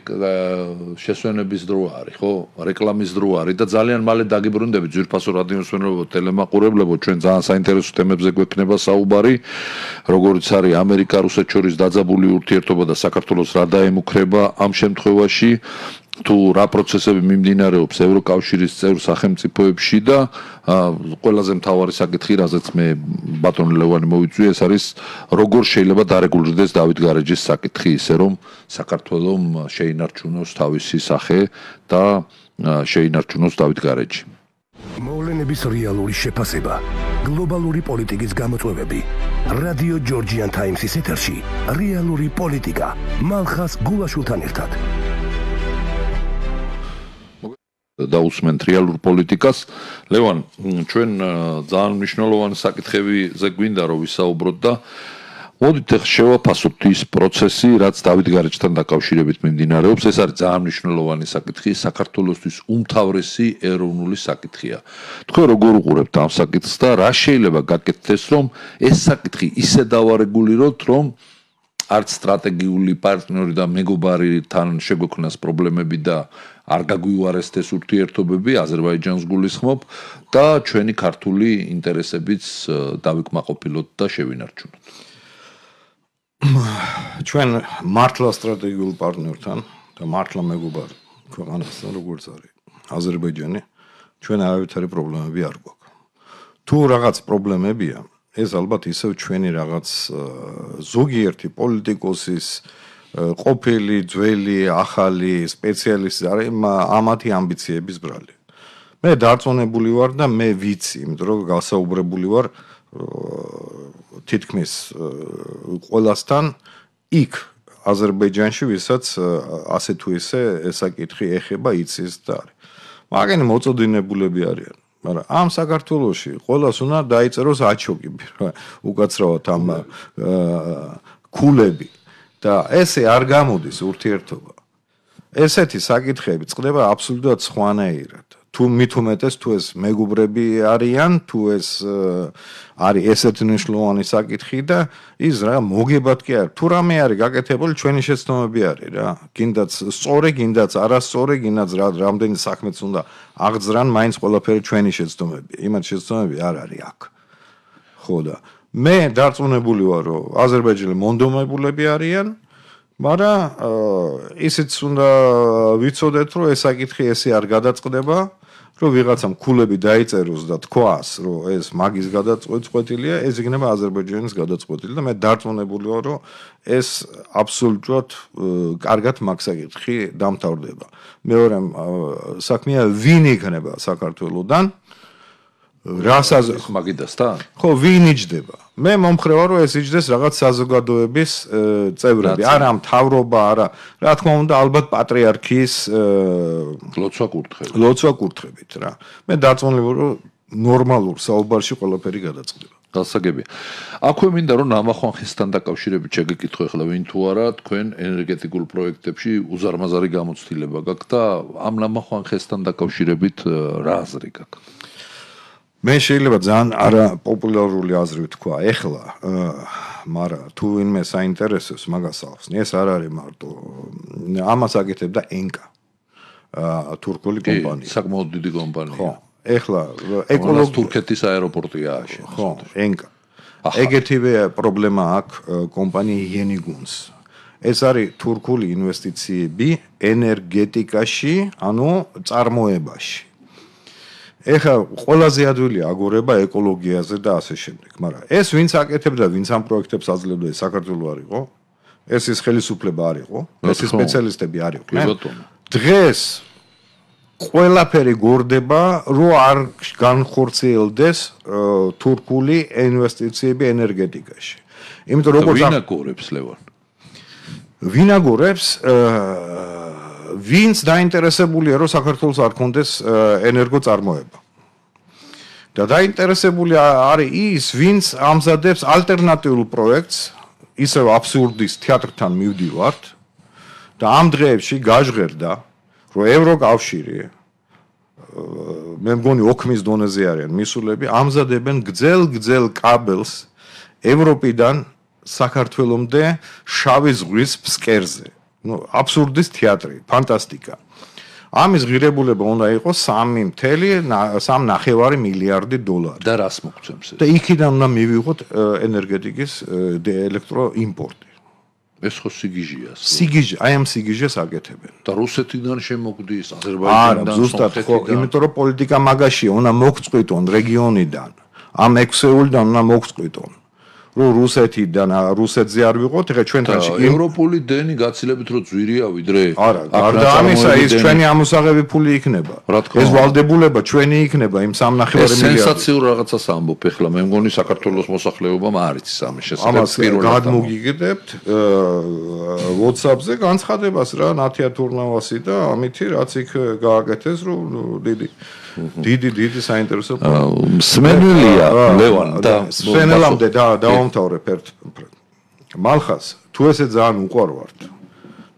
შესვენების დრო არის, ხო? რეკლამის დრო არის და ძალიან მალე დაგიბრუნდებით ძვირფასო რადიო მსმენელებო, ტელემაყურებლებო, ჩვენ ძალიან საინტერესო თემებზე გვექნება საუბარი, როგორც არის ამერიკა რუსეთს შორის დაძაბული ურთიერთობა და საქართველოს რა დაემუქრება ამ შემთხვევაში. თუ რა პროცესები მიმდინარეობს ევროკავშირის წევრ სახელმწიფოებში და ყველაზე მთავარი საკითხი, რაზეც მე ბატონ ლევანი მოვიწვია, ეს არის როგორ შეიძლება დარეგულირდეს დავით გარეჯის საკითხი, ისე რომ საქართველოს შეინარჩუნოს თავისი სახე და შეინარჩუნოს დავით გარეჯი. მოვლენების რეალური შეფასება, გლობალური პოლიტიკის გამოწვევები. რადიო ჯორჯიან ტაიმსის ეთერში რეალური პოლიტიკა მალხაზ გულაშვილთან ერთად. დაусმენთ რეალურ პოლიტიკას. ლევან, ჩვენ ძალიან მნიშვნელოვანი საკითხებზე გვინდა რომ ვისაუბროთ და მოდით ახლა შევაფასოთ ის პროცესი, რაც დავით გარეჯთან დაკავშირებით მიმდინარეობს. ეს არის ძალიან მნიშვნელოვანი საკითხი, საქართველოსთვის უმთავრესი ეროვნული საკითხია. თქვენ როგორ უყურებთ ამ საკითხს და რა შეიძლება გაკეთდეს, რომ ეს საკითხი ისე დავარეგულიროთ, რომ არც სტრატეგიული პარტნიორი და მეგობარი თან შეგვექმნას პრობლემები და არ გაგვიუარესდეს ურთიერთობები, აზერბაიჯანს გულისხმობ და ჩვენი ქართული ინტერესებიც დავიკმაყოფილოთ და შევინარჩუნოთ. ჩვენ მართლა სტრატეგიულ პარტნიორთან და მართლა მეგობარ ქვეყანასთან როგორც არის აზერბაიჯანი, ჩვენ არავითარი პრობლემები არ გვაქვს. თუ რაღაც პრობლემებია, ეს ალბათ ისევ ჩვენი რაღაც ზოგიერთი პოლიტიკოსის ყოფილი, ძველი, ახალი სპეციალისტი არის ამათი ამბიციების ბრალი. მე დარწმუნებული ვარ და მე ვიცი, იმიტომ რომ გასაუბრებული ვარ თითქმის ყველასთან იქ აზერბაიჯანში, ვისაც ასე თუ ისე ესაკითხი ეხება, იცის და არის. მაგენი მოწოდინებულები არიან. მაგრამ ამ საქართველოში ყველას უნდა დაიწეროს აჩოკი, უკაცრავად ამ ქულები და ესე არ გამოდის ურთიერთობა. ესეთი საკითხები წყდება აბსოლუტურად სხვანაირად. თუ მით უმეტეს თუ ეს მეგობრები არიან, თუ ეს არის ესეთი მნიშვნელოვანი საკითხი და ის რა მოგებად კი არის. თუ რამე არის გაკეთებული, ჩვენი შეცდომები არის რა. გინდაც სწორი, გინდაც არასწორი, გინდაც რამდენი საქმეც უნდა აღძრან, მაინც ყველაფერი ჩვენი შეცდომები. იმათ შეცდომები არ არის აქ. ხო და მე დარწმუნებული ვარ, რომ აზერბაიჯანელი მონდომებულები არიან, მაგრამ ისიც უნდა ვიცოდეთ, რომ ეს საკითხი ესე არ გადაწყდება, რომ ვიღაცამ ქულები დაიწეროს და თქვას, რომ ეს მაგის გადაწყვეტილია, ეს იქნება აზერბაიჯანის გადაწყვეტილი და მე დარწმუნებული ვარ, რომ ეს აბსოლუტურად კარგად მაგ საკითხი დამთავრდება. მეორე საქმეა ვინ იქნება საქართველოსთან რასაც მაგიდასთან? ხო, ვინ იჯდება? მე მომხრე ვარ, რომ ეს იჯდეს რაღაც საზოგადოების წევრები, არა მთავრობა, არა, რა თქმა უნდა, ალბათ პატრიარქის ლოცვა კურთხებით. ლოცვა კურთხებით რა. მე დარწმუნებული ვარ, რომ ნორმალურ საუბარში ყველაფერი გადაწყდება. გასაგებია. აქვე მინდა რომ ნამახვანხისთან დაკავშირებით შეგეკითხო ახლა ვინ თუ არა თქვენ ენერგეტიკულ პროექტებში უზარმაზარი გამოცდილება გაქვთ და ამ ნამახვანხისთან დაკავშირებით რა აზრი გაქვთ? მე შეიძლება ძალიან არაპოპულარული აზრი ვთქვა ეხლა, მაგრამ თუ ვინმე საინტერესოს მაგას ახსნი, ეს არ არის მარტო ამას აკეთებდა ენკა, თურქული კომპანია. საკმაოდ დიდი კომპანია. ხო, ეხლა ეკოლოგი თურქეთის აეროპორტია აშენს. ხო, ენკა. ეგეთივე პრობლემა აქვს კომპანია Yeniguns. ეს არის თურქული ინვესტიციები ენერგეტიკაში, ანუ წარმოებაში. ეხლა ყველაზე ადვილია აგორება ეკოლოგიაზე და ასე შემდეგ, მაგრამ ეს ვინც აკეთებდა, ვინც ამ პროექტებს აძლევდა, საქართველოს არ იყო, ეს ის ხელისუფლება არ იყო, ეს სპეციალისტები არ იყვნენ. დღეს ყველაფერი გორდება, რომ არ განხორციელდეს თურქული ინვესტიციები ენერგეტიკაში. იმიტომ როგორც ვინ აგორებს ლევან? ვინ აგორებს ვინც დაინტერესებულია, რომ საქართველოს არ კონდეს ენერგოწარმოება. და დაინტერესებული არის ის, ვინც ამზადებს ალტერნატიულ პროექტს, ისევ აბსურდის თეატრთან მივდივართ და ამ დღეებში გაჟღერდა, რომ ევროკავშირი, მე მგონი ოქმის დონეზე არიან მისულები, ამზადებენ გძელ-გძელ კაბელს ევროპიდან საქართველომდე შავი ზღვის ფსკერზე. ну აბსურდის თეატრი, ფანტასტიკა. ამის ღირებულება უნდა იყოს სამი ნახევარი მილიარდი დოლარი. და რას მოგცემს ეს? და იქიდან უნდა მივიღოთ ენერგეტიკის ელექტროიმპორტი. ეს ხო სიგიჟეა. სიგიჟე, აი ამ სიგიჟეს აკეთებენ. და რუსეთიდან შემოგდის, არა, აზერბაიჯანიდან, ზუსტად ხო, იმიტომ რომ პოლიტიკა მაგაშია, უნდა მოგწყვიტონ რეგიონიდან. ამ ექვსეულიდან უნდა მოგწყვიტონ. რომ რუსეთიდან რუსეთზე არ ვიყოთ, ეხლა ჩვენთანში ევროპული დენი გაცილებით რო ძვირია ვიდრე არა, გარდა ამისა ის ჩვენი ამოსაღები ფული იქნება. ეს ვალდებულება ჩვენი იქნება იმ სამი ნახევარი მილიარდი. ეს სენსაციურ რაღაცას ამბობ ეხლა, მე მგონი საქართველოს მოსახლეობამ არ იცის ამის შესახებ. ამას გადმოგიგდებთ WhatsApp-ზე განცხადებას რა, ნათია თურნავასი და ამითი რაც იქ გააკეთეს, რომ დიდი დიდი დიდი საინტერესო სმენელია ლევან და სმენელამდე და დავამთავრებ ერთ მალხას თუ ესე ძალიან უყვარვართ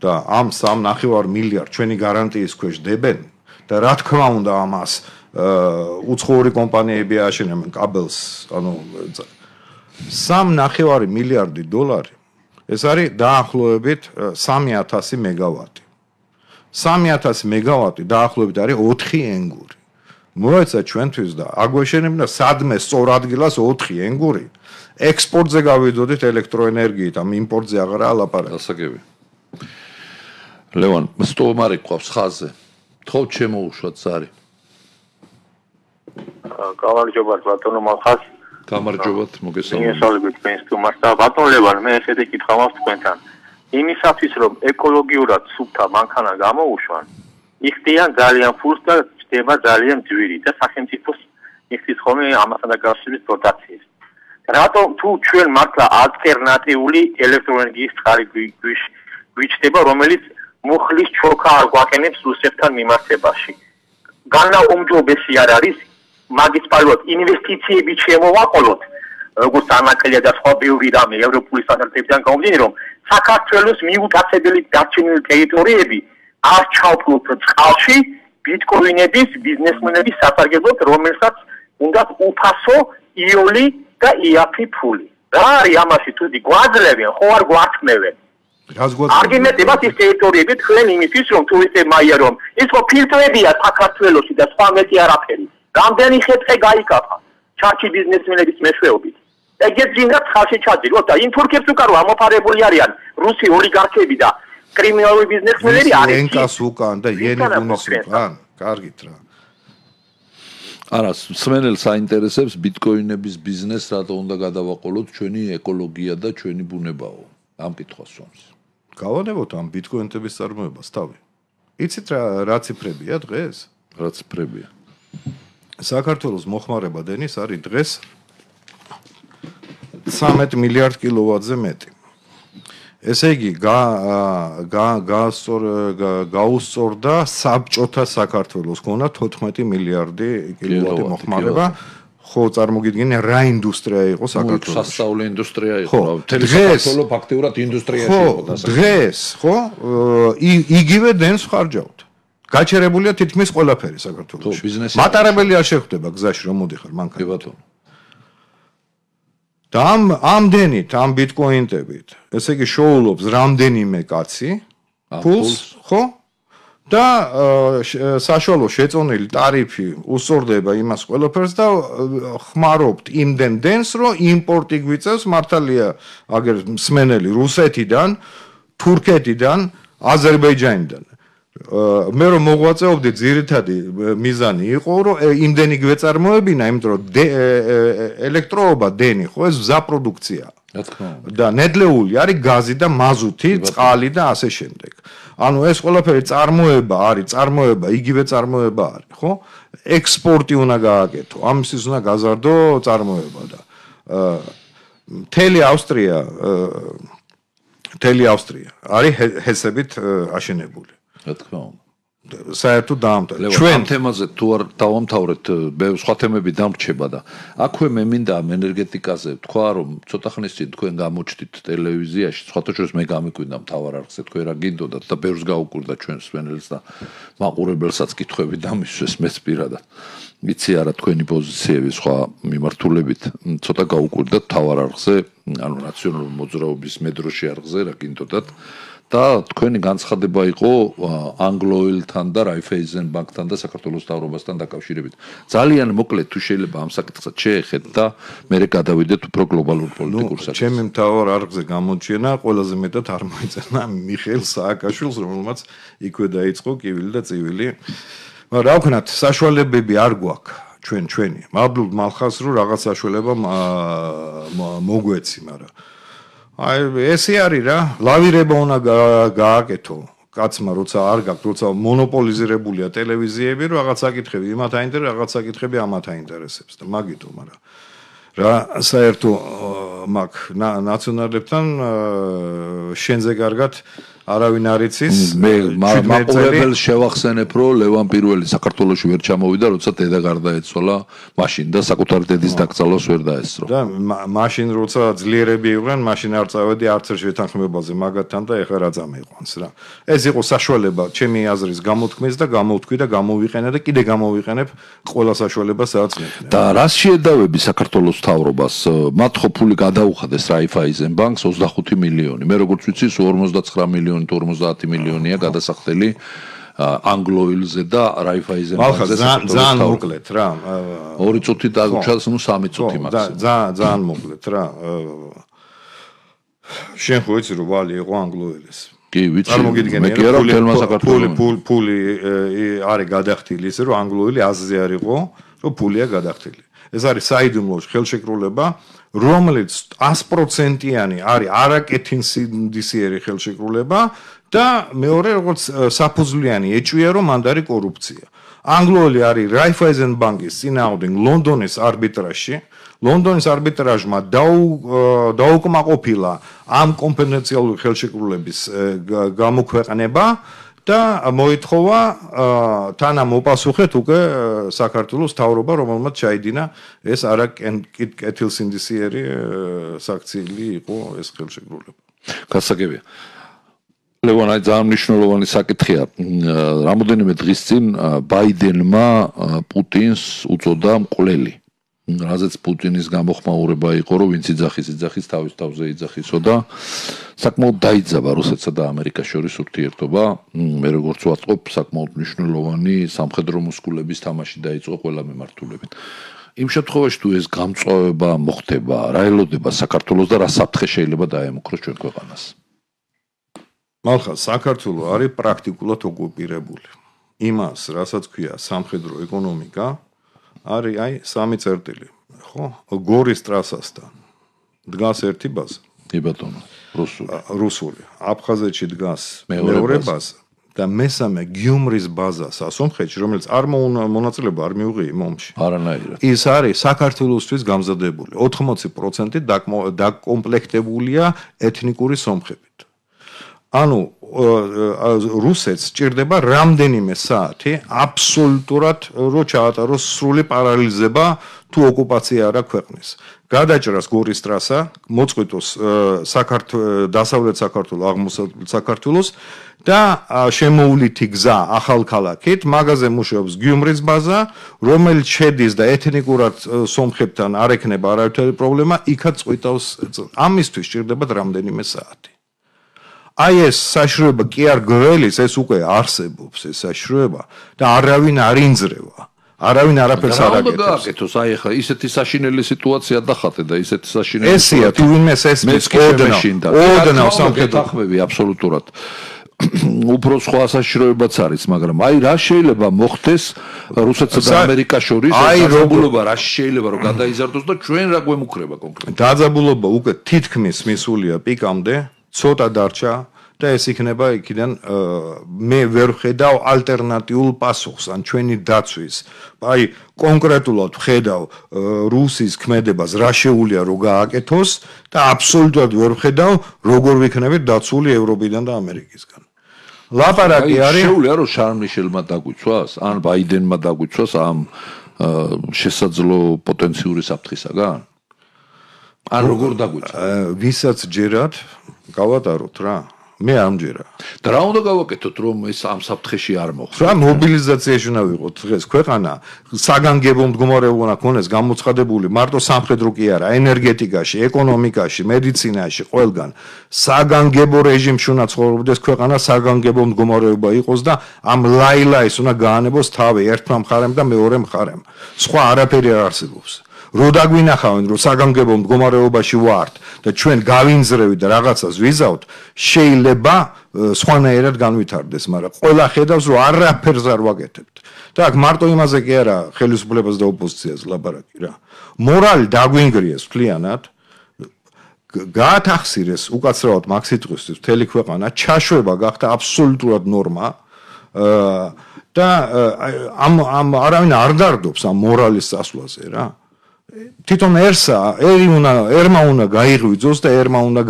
და ამ სამ ნახევარ მილიარდ ჩვენი გარანტიის ქვეშ დებენ და რა თქმა უნდა ამას უცხოური კომპანიები აშენებენ კაბელს ანუ სამ ნახევარი მილიარდი დოლარი ეს არის დაახლოებით სამი ათასი მეგავატი სამი ათასი მეგავატი დაახლოებით არის ოთხი ენგური მოეცა ჩვენთვის და აგვეშენებინა სადმე სწორ ადგილას ოთხი ენგური ექსპორტზე გავიდოდით ელექტროენერგიით ამ იმპორტზე აღარა ალაპარაკი გასაგები ლევან სტომარი ყავს ხაზზე გითხოვთ შემოუშვათ ზარი. გამარჯობა ბატონო მალხას. გამარჯობათ, მოგესალმებით. მიესალმებით თქვენს თუმას და ბატონ ლევან, მე ესეთი კითხვა მაქვს თქვენთან. იმისათვის რომ ეკოლოგიურად სუფთა მანქანა გამოუშვან, იხდიან ძალიან ფულს და ხდება ძალიან ძვირი და სახელმწიფოს იხდის ხოლმე ამასთან დაკავშირებით დოტაციებს. რატომ თუ ჩვენ მართლა ალტერნატიული ელექტროენერგიის წყარი გვიჩნდება, რომელიც მუხლის ჩოქა არ გვაყენებს რუსეთთან მიმართებაში. განაუმჯობესი არ არის მაგისტრალურად ინვესტიციები შემოვაყოლოთ, როგორც ანაკლია და სხვა ბევრი რამე ევროპული სტანდარტებიდან გამომდინარე, რომ საქართველოს მიუტაცებელი დარჩენილი ტერიტორიები არ ჩავფლოთ წყალში ბიტკოინების ბიზნესმენების სასარგებლოდ, რომელსაც უნდათ უფასო იოლი და იაფი ფული. რა არის ამაში თუდი გვაძლევენ, ხო არ გვართმევენ? არგუმენტებად ის ტერიტორიები თქვენ იმისთვის რომ ტურისტებმა აიარონ, ის ხო ფილტრებია საქართველოში და სხვა მეტი არაფერი. რამდენი ხეთყე გაიკაფა ჩარჩი ბიზნესმენების მეშვეობით. ეგეთ ძინათ ხალხი ჩაძიროთ და იმ თურქებს უკარო ამოფარებული არიან რუსი ოლიგარქები და კრიმინალური ბიზნესმენები არის. ენკას უკან და იენიგუნის უკან. კარგით რა. არა, სმენელს აინტერესებს ბიტკოინების ბიზნეს, რატო უნდა გადავაყოლოთ ჩვენი ეკოლოგია და ჩვენი ბუნებაო. ამ კითხვას სვამს. გავანებოთ ამ ბიტკოინების წარმოებას თავი. იცით რა რა ციფრებია დღეს? რა ციფრებია? საქართველოს მოხმარება დენის არის დღეს ცხრამეტ მილიარდ კილოვატზე მეტი. ესე იგი გაუსწორდა საბჭოთა საქართველოს ქონა თოთხმეტი მილიარდი კილოვატი მოხმარება. ხო წარმოგიდგენია რა ინდუსტრია იყო საქართველოში. სასწავლო ინდუსტრია იყო. მთელი საქართველო ფაქტიურად ინდუსტრიაში იყო და დღეს ხო იგივე დენს ხარჯავთ. გაჩერებულია თითქმის ყველაფერი საქართველოში. მატარებელი არ შეხვდება გზაში რომ მოდიხარ მანქანით. ბატონო. და ამ ამდენით, ამ ბიტკოინებით, ესე იგი შოულობს რამდენიმე კაცი ფულს, ხო? და საშუალო შეწონილი ტარიფი უსწორდება იმას ყველაფერს და ხმარობთ იმდენ დენს, რომ იმპორტი გვიწევს მართალია აგერ მსმენელი რუსეთიდან, თურქეთიდან, აზერბაიჯანიდან. მე რომ მოღვაწეობდი ძირითადი მიზანი იყო რომ იმდენი გვეწარმოებინა, იმიტომ რომ ელექტროობა დენი ხო ეს გზა პროდუქცია. და ნედლეული არის გაზი და მაზუთი, წყალი და ასე შემდეგ. ანუ ეს ყველაფერი წარმოება არის, წარმოება, იგივე წარმოება არის, ხო? ექსპორტი უნდა გააკეთო, ამისთვის უნდა გაზარდო წარმოება და მთელი ავსტრია მთელი ავსტრია არის ჰესებით აშენებული. რა თქმა უნდა. საერთოდ დაამთავრეთ. ჩვენ ამ თემაზე თუ არ დავამთავრეთ, სხვა თემები დამრჩება და აქვე მე მინდა ამ ენერგეტიკაზე თქვა, რომ ცოტა ხნის წინ თქვენ გამოჩდით ტელევიზიაში, სხვათა შორის მე გამიკვირდა მთავარ არხზე, თქვენ რა გინდოდათ და ბევრს გაუკვირდა ჩვენს სვენელს და მაყურებელსაც კითხვები დამისვეს მეც პირადად. ვიცი არა თქვენი პოზიციები სხვა მიმართულებით, ცოტა გაუკვირდა მთავარ არხზე, ანუ ნაციონალური მოძრაობის მედროში არხზე რა გინდოდათ. და თქვენი განცხადება იყო ანგლოელთან და რაიფეიზენ ბანკთან და საქართველოს მთავრობასთან დაკავშირებით. ძალიან მოკლედ თუ შეიძლება ამ საკითხსაც შეეხეთ და მერე გადავიდეთ უფრო გლობალურ პოლიტიკურ საკითხს. ჩემი მთავარ არხზე გამოჩენა ყველაზე მეტად არ მოიწენა მიხეილ სააკაშვილს, რომელმაც იქვე დაიწყო კივილი და წივილი. მაგრამ რა ვქნათ, საშუალებები არ გვაქვს ჩვენ ჩვენი. მადლობ მალხას რომ რაღაც საშუალება მოგვეცი, მაგრამ აი ესე არის რა, ლავირება უნდა გააკეთო. კაცმა როცა არ გაქვს, როცა მონოპოლიზირებულია ტელევიზიები, რომ რაღაც საკითხები იმათ აინტერესებს, რაღაც საკითხები ამათ აინტერესებს და მაგითო, მაგრამ რა საერთო მაგ ნაციონალებთან შენზე კარგად არავინ არ იცის. მე მაყურებელს შევახსენებ, რომ ლევან პირველი საქართველოში ვერ ჩამოვიდა, როცა დედა გარდაეცვალა, მაშინ და საკუთარი დედის დაკრძალვას ვერ დაესწრო. და მაშინ როცა ძლიერები იყვნენ, მაშინ არ წავედი არც ერთ შეთანხმებაზე მაგათთან და ეხლა რა წამიყვანს რა. ეს იყო საშუალება ჩემი აზრის გამოთქმის და გამოვთქვი და გამოვიყენე და კიდე გამოვიყენებ ყველა საშუალებას რაც მექნება. და რას შეედავები საქართველოს მთავრობას? მათ ხო ფული გადაუხადეს რაიფაიზენ ბანკს ოცდახუთი მილიონი. მე როგორც ვიცი, ორმოცდაცხრა მილიონი ორმოცდაათი მილიონია გადასახდელი ანგლოილზე და რაიფაიზენ ბანკზე. ძალიან მოკლედ რა. ორი წუთი დაგუჩას, ნუ სამი წუთი მაქსიმუმ. ძალიან ძალიან მოკლედ რა. შენ ხო იცი რომ ვალი იყო ანგლოილის. კი, ვიცი. წარმოგიდგენია, მე კი არა თელმა საქართველოს. ფული ფული არის გადახდილი ისე რომ ანგლოელი აზზე არ იყო, რომ ფულია გადახდილი. ეს არის საიდუმლო ხელშეკრულება, რომელიც sto პროცენტიანი არის არაკეთილსინდისიერი ხელშეკრულება და მეორე როგორც საფუძვლიანი ეჭვია რომ მანდ არის კორუფცია. ანგლოელი არის Raiffeisen ბანკის წინააღმდეგ ლონდონის არბიტრაჟში. ლონდონის არბიტრაჟმა დაუკმაყოფილა ამ კომპენსაციალური ხელშეკრულების გამოქვეყნება და მოითხოვა თანამოპასუხეთ უკვე საქართველოს მთავრობა, რომელმაც ჩაიდინა ეს არაკეთილსინდისიერი საქციელი იყო ეს ხელშეკრულება. გასაგებია. ლევან, აი ძალიან მნიშვნელოვანი საკითხია. რამოდენიმე დღის წინ ბაიდენმა პუტინს უწოდა მკვლელი. რაზეც პუტინის გამოხმაურება იყო, რომ ვინც იძახის, იძახის თავის თავზე იძახისო და საკმაოდ დაიძაბა რუსეთსა და ამერიკას შორის ურთიერთობა. მე როგორც ვატყობ, საკმაოდ მნიშვნელოვანი სამხედრო მუსკულების თამაში დაიწყო ყველა მიმართულებით. იმ შემთხვევაში თუ ეს გამწვავება მოხდება, რა ელოდება საქართველოს და რა საფრთხე შეიძლება დაემუქროს ჩვენ ქვეყანას? მალხა საქართველო არის პრაქტიკულად ოკუპირებული. იმას, რასაც ქვია სამხედრო ეკონომიკა, არის აი სამი წერტილი, ხო? გორის ტრასასთან დგას ერთი ბაზა. კი ბატონო, რუსული. რუსული. აფხაზეთში დგას მეორე ბაზა და მესამე გიუმრის ბაზა სასონხეთში, რომელიც არ მონაწილეობა არ მიუღია იმ ომში. არანაირად. ის არის საქართველოსთვის გამზადებული. ოთხმოცი პროცენტი დაკომპლექტებულია ეთნიკური სომხებით. ანუ რუსეთს სჭირდება რამდენიმე საათი აბსოლუტურად რო ჩაატაროს სრული პარალიზება თუ ოკუპაცია არა ქვეყნის. გადაჭრას გორის ტრასა, მოწყვიტოს საქართველოს დასავლეთ საქართველოს, აღმოსავლეთ საქართველოს და შემოვლითი გზა ახალქალაქით, მაგაზე მუშაობს გიუმრის ბაზა, რომელიც შედის და ეთნიკურად სომხებთან არ ექნება არავითარი პრობლემა, იქაც წყვიტავს. ამისთვის სჭირდება რამდენიმე საათი. აი ეს საშროება კი არ გველის, ეს უკვე არსებობს ეს საშროება და არავინ არ ინძრევა. არავინ არაფერს არ აკეთებს. რა უნდა გააკეთოს? აი ახლა ისეთი საშინელი სიტუაცია დახატე და ისეთი საშინელი ესია თუ ვინმეს ესმის ოდნავ ოდნავ სამხედრო თანხმები აბსოლუტურად უფრო სხვა საშროებაც არის, მაგრამ აი რა შეიძლება მოხდეს რუსეთსა და ამერიკას შორის დაძაბულობა რა შეიძლება რომ გადაიზარდოს და ჩვენ რა გვემუქრება კონკრეტულად? დაძაბულობა უკვე თითქმის მისულია პიკამდე, ცოტა დარჩა და ეს იქნება იქიდან მე ვერ ხედავ ალტერნატიულ პასუხს ან ჩვენი დაცვის. აი კონკრეტულად ხედავ რუსის ქმედებას რა შეუძლია რომ გააკეთოს და აბსოლუტურად ვერ ხედავ როგორ ვიქნებით დაცული ევროპიდან და ამერიკისგან. ლაპარაკი არის შეუძლია რომ შარლ მიშელმა დაგვიცვას ან ბაიდენმა დაგვიცვას ამ შესაძლო პოტენციური საფრთხისაგან? ან როგორ დაგვიცვა? ვისაც ჯერათ გავატაროთ რა. მე არ მჯერა. და რა უნდა გავაკეთოთ რომ ეს ამ საფრთხეში არ მოხდეს? რა მობილიზაციაში უნდა ვიყოთ დღეს ქვეყანა საგანგებო მდგომარეობა უნდა ქონდეს გამოცხადებული მარტო სამხედრო კი არა, ენერგეტიკაში, ეკონომიკაში, მედიცინაში, ყველგან. საგანგებო რეჟიმში უნდა ცხოვრობდეს ქვეყანა, საგანგებო მდგომარეობა იყოს და ამ ლაილაის უნდა გაანებოს თავი ერთმა მხარემ და მეორე მხარემ. სხვა არაფერი არ არსებობს. რო დაგვინახავენ რომ საგანგებო მდგომარეობაში ვართ და ჩვენ გავინძრევით და რაღაცას ვიზავთ, შეიძლება სხვანაირად განვითარდეს, მაგრამ ყველა ხედავს რომ არაფერს არ ვაკეთებთ. და აქ მარტო იმაზე კი არა ხელისუფლებას და ოპოზიციას ლაპარაკი რა. მორალი დაგვინგრიეს მთლიანად, გაათახსირეს უკაცრავად მაგ სიტყვისთვის მთელი ქვეყანა, ჩაშვება გახდა აბსოლუტურად ნორმა და ამ ამ არავინ არ დარდობს ამ მორალის წასვლაზე რა. თვითონ ერსა, ერი უნდა, ერმა უნდა გაიღვიძოს და ერმა უნდა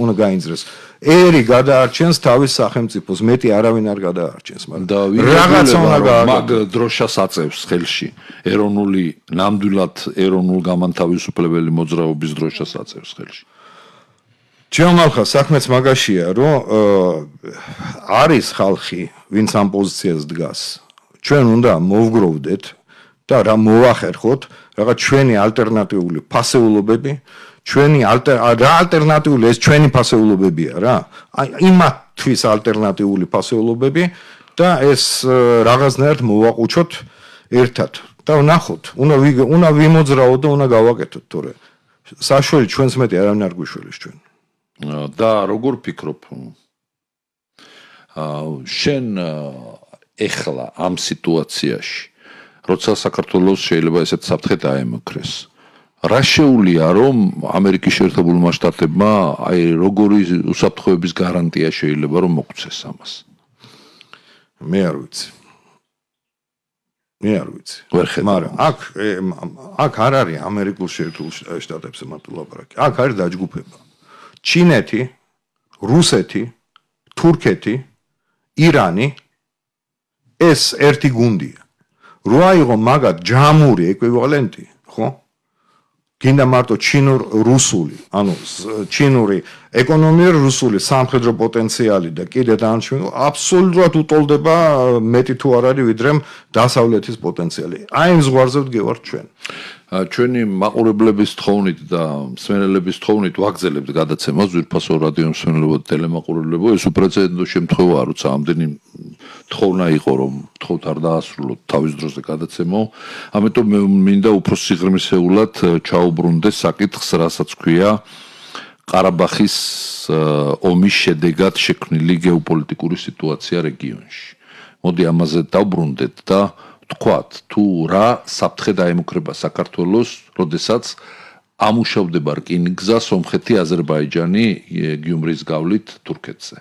უნდა გაინძრეს. ერი გადაარჩენს თავის სახელმწიფოს, მეტი არავინ არ გადაარჩენს, მაგრამ რაღაცა უნდა გააკეთოს. დროშას აწევს ხელში. ეროვნული, ნამდვილად ეროვნულ გამანთავისუფლებელი მოძრაობის დროშას აწევს ხელში. ჩემალხა საქმეც მაგაშია, რომ არის ხალხი, ვინც ამ პოზიციას დგას. ჩვენ უნდა მოვგროვდეთ და რა მოახერხოთ რაღაც ჩვენი ალტერნატიული ფასეულობები, ჩვენი რა ალტერნატიული ეს ჩვენი ფასეულობებია რა. აი იმათთვის ალტერნატიული ფასეულობები და ეს რაღაცნაირად მოვაყუჩოთ ერთად და ვნახოთ, უნდა უნდა ვიმოძრაოთ და უნდა გავაკეთოთ, თორე საშველი ჩვენს მეტი არავინ არ გვიშველის ჩვენ. და როგორ ფიქრობ? შენ ეხლა ამ სიტუაციაში როცა საქართველოს შეიძლება ესეთ საფრთხე დაემუქრეს რა შეუულია რომ ამერიკის შეერთებულმა შტატებმა აი როგორი უსაფრთხოების გარანტია შეიძლება რომ მოგცეს ამას მე არ ვიცი მე არ ვიცი მაგრამ აქ აქ არ არის ამერიკულ შეერთებულ შტატებზე მარტო ლაპარაკი აქ არის დაჯგუფება ჩინეთი რუსეთი თურქეთი ირანი ეს ერთი გუნდია რო აიღო მაგათ ჯამური ეკვივალენტი ხო გინდა მარტო ჩინურ-რუსული, ანუ ჩინური ეკონომიური რუსული სამხედრო პოტენციალი და კიდე დანარჩენი აბსოლუტურად უტოლდება მეტი თუ არ არის ვიდრე დასავლეთის პოტენციალი. აი ამ ზღვარზე ვდგევართ ჩვენ. ჩვენი მაყურებლების თხოვნით და მსმენელების თხოვნით ვაგზელებთ გადაცემას ძვირფასო რადიო მსმენელებო და ტელემაყურებლებო ეს უპრეცედენტო შემთხვევაა როცა ამდენი თხოვნა იყო რომ თხოვთ არ დაასრულოთ თავის დროზე გადაცემო ამიტომ მე მინდა უფრო სიღრმისეულად ჩაუბრუნდე საკითხს რასაც ქვია ყარაბახის ომის შედეგად შექმნილი გეოპოლიტიკური სიტუაცია რეგიონში მოდი ამაზე დავბრუნდეთ და თქვათ თუ რა საფრთხე დაემუქრება საქართველოს როდესაც ამუშავდება რკინიგზა სომხეთი აზერბაიჯანი გიუმრის გავლით თურქეთზე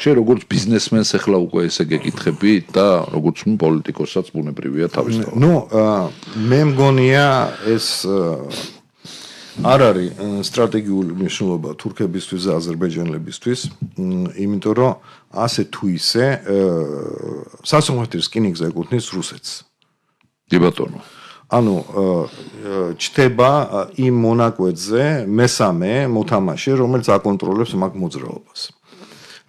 შენ როგორც ბიზნესმენს ახლა უკვე ესე გეკითხები და როგორც პოლიტიკოსაც ბუნებრივია თავისთავად ნუ მე მგონია ეს არ არის სტრატეგიული მნიშვნელობა თურქებისთვის და აზერბაიჯანელებისთვის იმიტომ რომ ასე თუ ისე სასამართლოს რკინიგზა ეკუთვნის რუსეთს დი ბატონო ანუ ჩდება იმ მონაკვეთზე მესამე მოთამაშე რომელიც აკონტროლებს მაგ მოძრაობას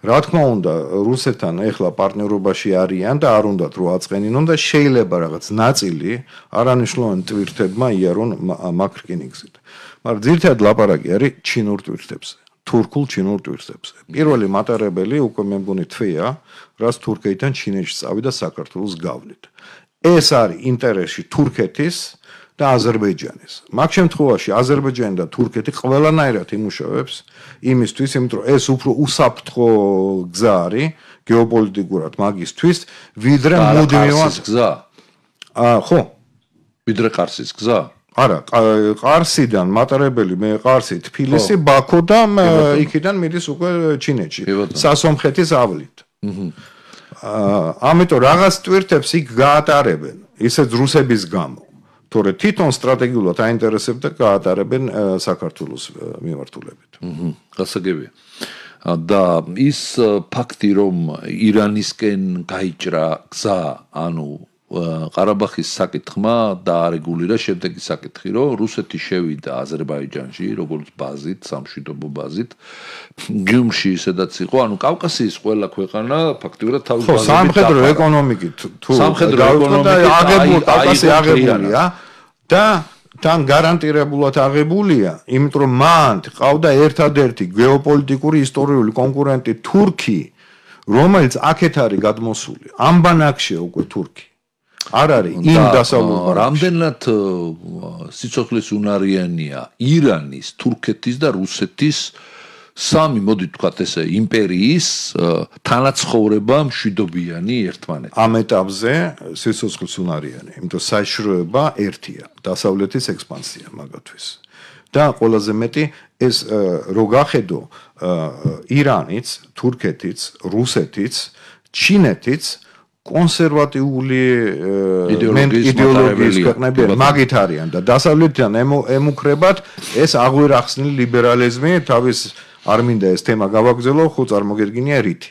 რა თქმა უნდა რუსეთთან ეხლა პარტნიორობაში არიან და არ უნდათ რო აწყენინონ და შეიძლება რაღაც ნაწილი არანიშნულოვანი ტვირთებმა იარონ მაგ რკინიგზით მაგრამ ძირითადად ლაპარაკი არის ჩინურ ტვირთებზე თურქულ ჩინურ ტვირთებზე პირველი მატარებელი უკვე მე მგონი თვეა რაც თურქეთიდან ჩინეთში წავიდა საქართველოს გავლით ეს არის ინტერესი თურქეთის და აზერბაიჯანის მაგ შემთხვევაში აზერბაიჯანი და თურქეთი ყველანაირად იმუშავებს იმისთვის იმიტომ რომ ეს უფრო უსაფრთხო გზა არის გეოპოლიტიკურად მაგისთვის ვიდრე მუდმივად გზა აა ხო ვიდრე ყარსის გზა არა ყარსიდან მატარებელი მე ყარსი თბილისი ბაქო და იქიდან მიდის უკვე ჩინეთში სასომხეთის ავლით აა ამიტომ რაღაც ტვირთებს იქ გაატარებენ ისეც რუსების გამო თორე თვითონ სტრატეგიულად აინტერესებდა გაატარებენ საქართველოს მიმართულებით. აჰა, გასაგებია. და ის ფაქტი რომ ირანისკენ გაიჭრა გზა, ანუ ყარაბახის საკითხმა დაარეგულირა შემდეგი საკითხი, რომ რუსეთი შევიდა აზერბაიჯანში, როგორც ბაზით, სამშვიდობო ბაზით, გიუმში ისედაც იყო, ანუ კავკასიის ყველა ქვეყანა ფაქტიურად თავის ბაზით. ხო, სამხედრო ეკონომიკით თუ სამხედრო ეკონომიკით აღებული კავკასია აღებულია და თან გარანტირებულად აღებულია, იმიტომ რომ მან ყავდა ერთადერთი გეოპოლიტიკური ისტორიული კონკურენტი თურქი, რომელიც აქეთ არის გადმოსული. ამ ბანაკშია უკვე თურქი. არ არის იმ დასავლურ რამდენად სიცოცხლის უნარიანია ირანის, თურქეთის და რუსეთის სამი მოდი თქვათ ესე იმპერიის თანაცხოვრება მშვიდობიანი ერთმანეთთან. ამ ეტაპზე სიცოცხლის უნარიანი, იმიტომ საშვება ერთია, დასავლეთის ექსპანსია მაგათთვის. და ყველაზე მეტი ეს რო გახედო ირანიც, თურქეთიც, რუსეთიც, ჩინეთიც კონსერვატიული იდეოლოგიის ქვეყნები მაგით არიან და დასავლეთიდან ემუქრებათ ეს აღვირახსნილი ლიბერალიზმი თავის არ მინდა ეს თემა გავაგრძელო, ხო წარმოგერგინია რითი.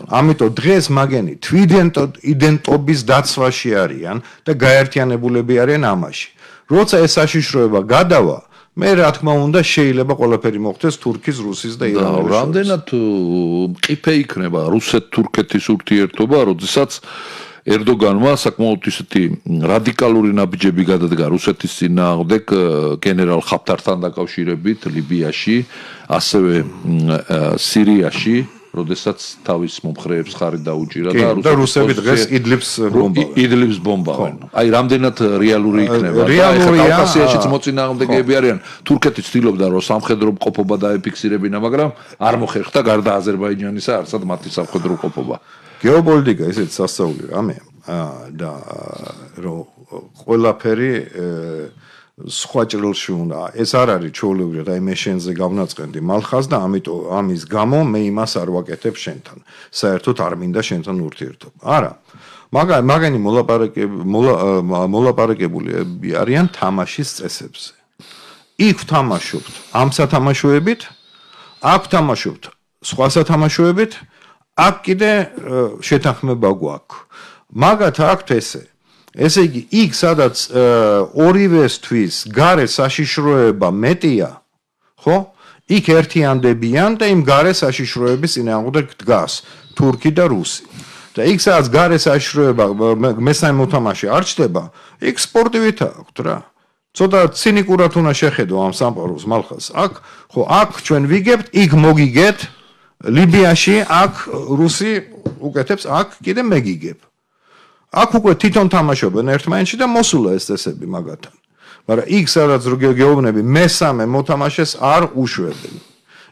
ამიტომ დღეს მაგენი თვითიდენტობის დაცვაში არიან და გაერთიანებულები არიან ამაში. როცა ეს საშიშროება გადავა, მე რა თქმა უნდა შეიძლება ყველაფერი მოხდეს თურქის, რუსის და ირანის. რამდენად მყიფე იქნება რუსეთ-თურქეთის ურთიერთობა, როდესაც ერდოგანმა საკმაოდ ისეთი რადიკალური ნაბიჯები გადადგა რუსეთის წინააღმდეგ გენერალ ხაფთართან დაკავშირებით ლიბიაში, ასევე სირიაში, როდესაც თავის მომხრეებს ხარი დაუჭირა და რუსები დღეს იდლიბს ბომბავენ. იდლიბს ბომბავენ. აი, რამდენად რეალური იქნება და ეხლა კავკასიაშიც მოწინააღმდეგეები არიან. თურქეთი ცდილობდა რომ სამხედრო მყოფობა დაეფიქსირებინა, მაგრამ არ მოხერხდა გარდა აზერბაიჯანისა არცად მათი სამხედრო მყოფობა. გეოპოლიტიკა ისეთ სასწაული რამეა და რომ ყველაფერი სხვა ჭრილში უნდა. ეს არ არის ჩვეულებრივად, აი მე შენზე გავნაწყენდი მალხას და ამიტომ ამის გამო მე იმას არ ვაკეთებ შენთან. საერთოდ არ მინდა შენთან ურთიერთობა. არა. მაგა მაგენი მოლაპარაკებული მოლაპარაკებულები არიან თამაშის წესებზე. იქ ვთამაშობთ ამ სათამაშოებით, აქ ვთამაშობთ სხვა სათამაშოებით, აქ კიდე შეთანხმება გვაქვს. მაგათ აქვთ ესე ესე იგი, იქ სადაც ორივესთვის გარე საშიშროება მეტია, ხო? იქ ერთიანდებიან და იმ გარე საშიშროების წინააღმდეგ დგას თურქი და რუსი. და იქ სადაც გარე საშიშროება მესამე მოთამაშე არ ჩდება, იქ სპორტივით აქვთ რა. ცოტა ცინიკურად უნდა შეხედო ამ სამყაროს მალხას. აქ, ხო, აქ ჩვენ ვიგებთ, იქ მოგიგეთ, ლიბიაში აქ რუსი უკეთებს, აქ კიდე მეგიგებ. აქ უკვე თვითონ თამაშობენ ერთმანეთში და მოსულა ეს წესები მაგათთან. მაგრამ იქ სადაც გეუბნები მესამე მოთამაშეს არ უშვებენ.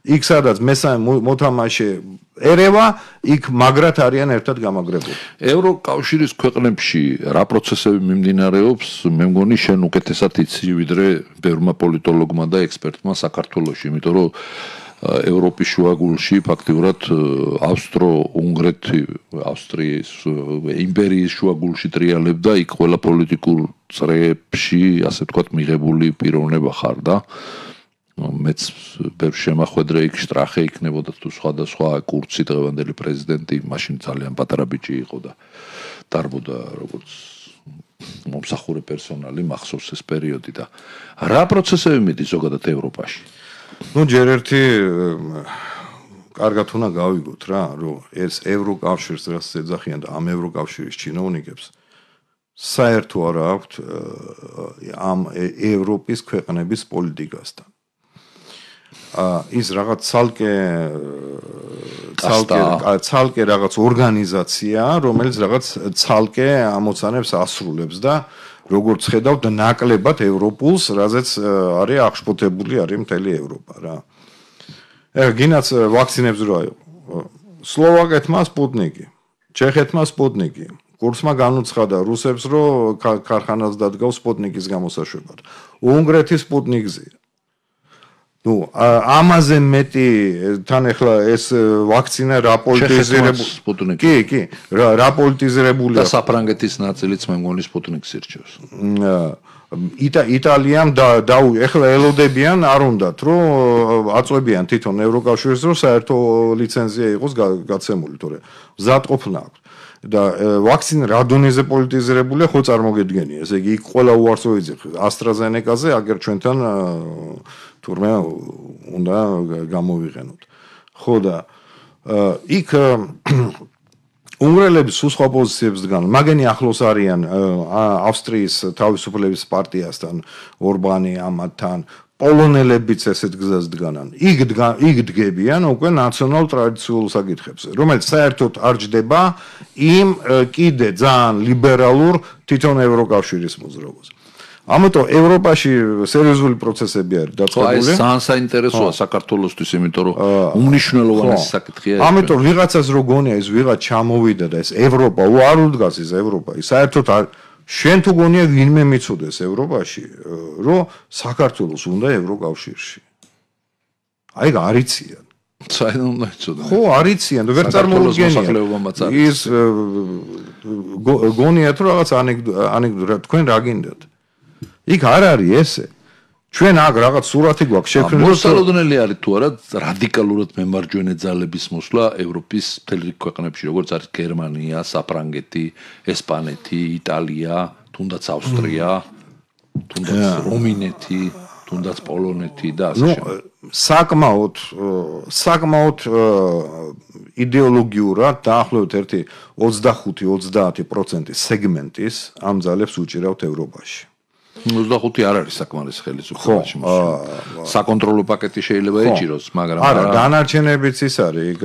იქ სადაც მესამე მოთამაშე ერევა, იქ მაგრად არიან ერთად გამაგრებული. ევროკავშირის ქვეყნებში რა პროცესები მიმდინარეობს, მე მგონი შენ უკეთესად იცი ვიდრე ბევრმა პოლიტოლოგმა და ექსპერტმა საქართველოში, იმიტომ რომ ევროპის შუაგულში ფაქტიურად ავსტრო-უნგრეთი, ავსტრიის იმპერიის შუაგულში ტრიალებდა, იქ ყველა პოლიტიკურ წრეებში, ასე ვთქვათ, მიღებული პიროვნება ხარდა. მეც ბევრ შემახვედრე იქ შტრახე იქნებოდა თუ სხვადასხვა კურცი დღევანდელი პრეზიდენტი, მაშინ ძალიან პატარა ბიჭი იყო და დარბოდა როგორც მომსახურე პერსონალი, მახსოვს ეს პერიოდი და რა პროცესები მიდის ზოგადად ევროპაში? ну ჯერ ერთი კარგად უნდა გავიგოთ რა რომ ეს ევროკავშირს რაც ეძახიან და ამ ევროკავშირის ჩინოვნიკებს საერთო არ აქვთ ამ ევროპის ქვეყნების პოლიტიკასთან ის რაღაც ცალკე ცალკე ცალკე რაღაც ორგანიზაცია რომელიც რაღაც ცალკე ამოცანებს ასრულებს და როგორც ხედავთ ნაკლებად ევროპულს, რაზეც არის აღშფოთებული არის მთელი ევროპა რა. ეხლა გინაც ვაქცინებს რა იყო. სლოვაკეთმა სპუტნიკი, ჩეხეთმა სპუტნიკი, კურსმა განუცხადა რუსებს, რომ ქარხანას დადგავს სპუტნიკის გამოსაშვებად. უნგრეთის სპუტნიკზე. ну ამაზე მეტი თან ახლა ეს ვაქცინა რა პოლიტიზირებული კი კი რა პოლიტიზირებულია და საფრანგეთის ნაწილიც მე მგონი სპუტნიკს ირჩევს იტალიამ და ახლა ელოდებიან არ უნდათ რომ აწვევიან თვითონ ევროკავშირს რომ საერთო ლიცენზია იყოს გაცემული თორე მზადყოფნა აქვს და ვაქცინა რა დონეზე პოლიტიზირებულია ხო წარმოგედგენია ესე იგი იქ ყველა უარსო იზრდება AstraZeneca-ზე აგერ ჩვენთან თურმე უნდა გამოვიყენოთ ხო და იქ უნგრელები სულ სხვა პოზიციებს დგანან მაგენი ახლოს არიან ავსტრიის თავისუფლების პარტიასთან ორბანი ამათთან პოლონელებიც ესეთ გზას დგანან იქ იქ დგებიან უკვე ნაციონალ ტრადიციულ საკითხებზე რომელიც საერთოდ არ ჯდება იმ კიდე ძალიან ლიბერალურ თვითონ ევროკავშირის მოძრაობას ამიტომ ევროპაში სერიოზული პროცესები არის დაწყებული. ეს ძალიან საინტერესოა საქართველოსთვის, იმიტომ რომ უმნიშვნელოვანესი საკითხია. ამიტომ ვიღაცას რო გონია ეს ვიღაც ჩამოვიდა და ეს ევროპა, უ არ უდგას ეს ევროპა. საერთოდ შენ თუ გონია ვინმე მიცოდეს ევროპაში, რომ საქართველოს უნდა ევროკავშირში. აი არიციან. საერთოდ უნდა იცოდე. ხო, არიციან და ვერ წარმოუდგენია. ის გონიათ რომ რაღაც ანეკდოტა თქვენ რა გინდათ? იქ არ არის ესე. ჩვენ აქ რაღაც სურათი გვაქვს შექმნილი. მოსალოდნელი არის თუ არა რადიკალურად მემარჯვენე ძალების მოსვლა ევროპის მთელ რიგ ქვეყნებში, როგორც არის გერმანია, საფრანგეთი, ესპანეთი, იტალია, თუნდაც ავსტრია, თუნდაც რუმინეთი, თუნდაც პოლონეთი და ასე შემდეგ. საკმაოდ საკმაოდ იდეოლოგიურად დაახლოებით ერთი ოცდახუთი ოცდაათი პროცენტი სეგმენტის ამ ძალებს უჭირავთ ევროპაში. ოცდახუთი არ არის საკმარის ხელისუფლებაში. საკონტროლო პაკეტი შეიძლება ეჭიროს, მაგრამ არა, დანარჩენებიც ის არის,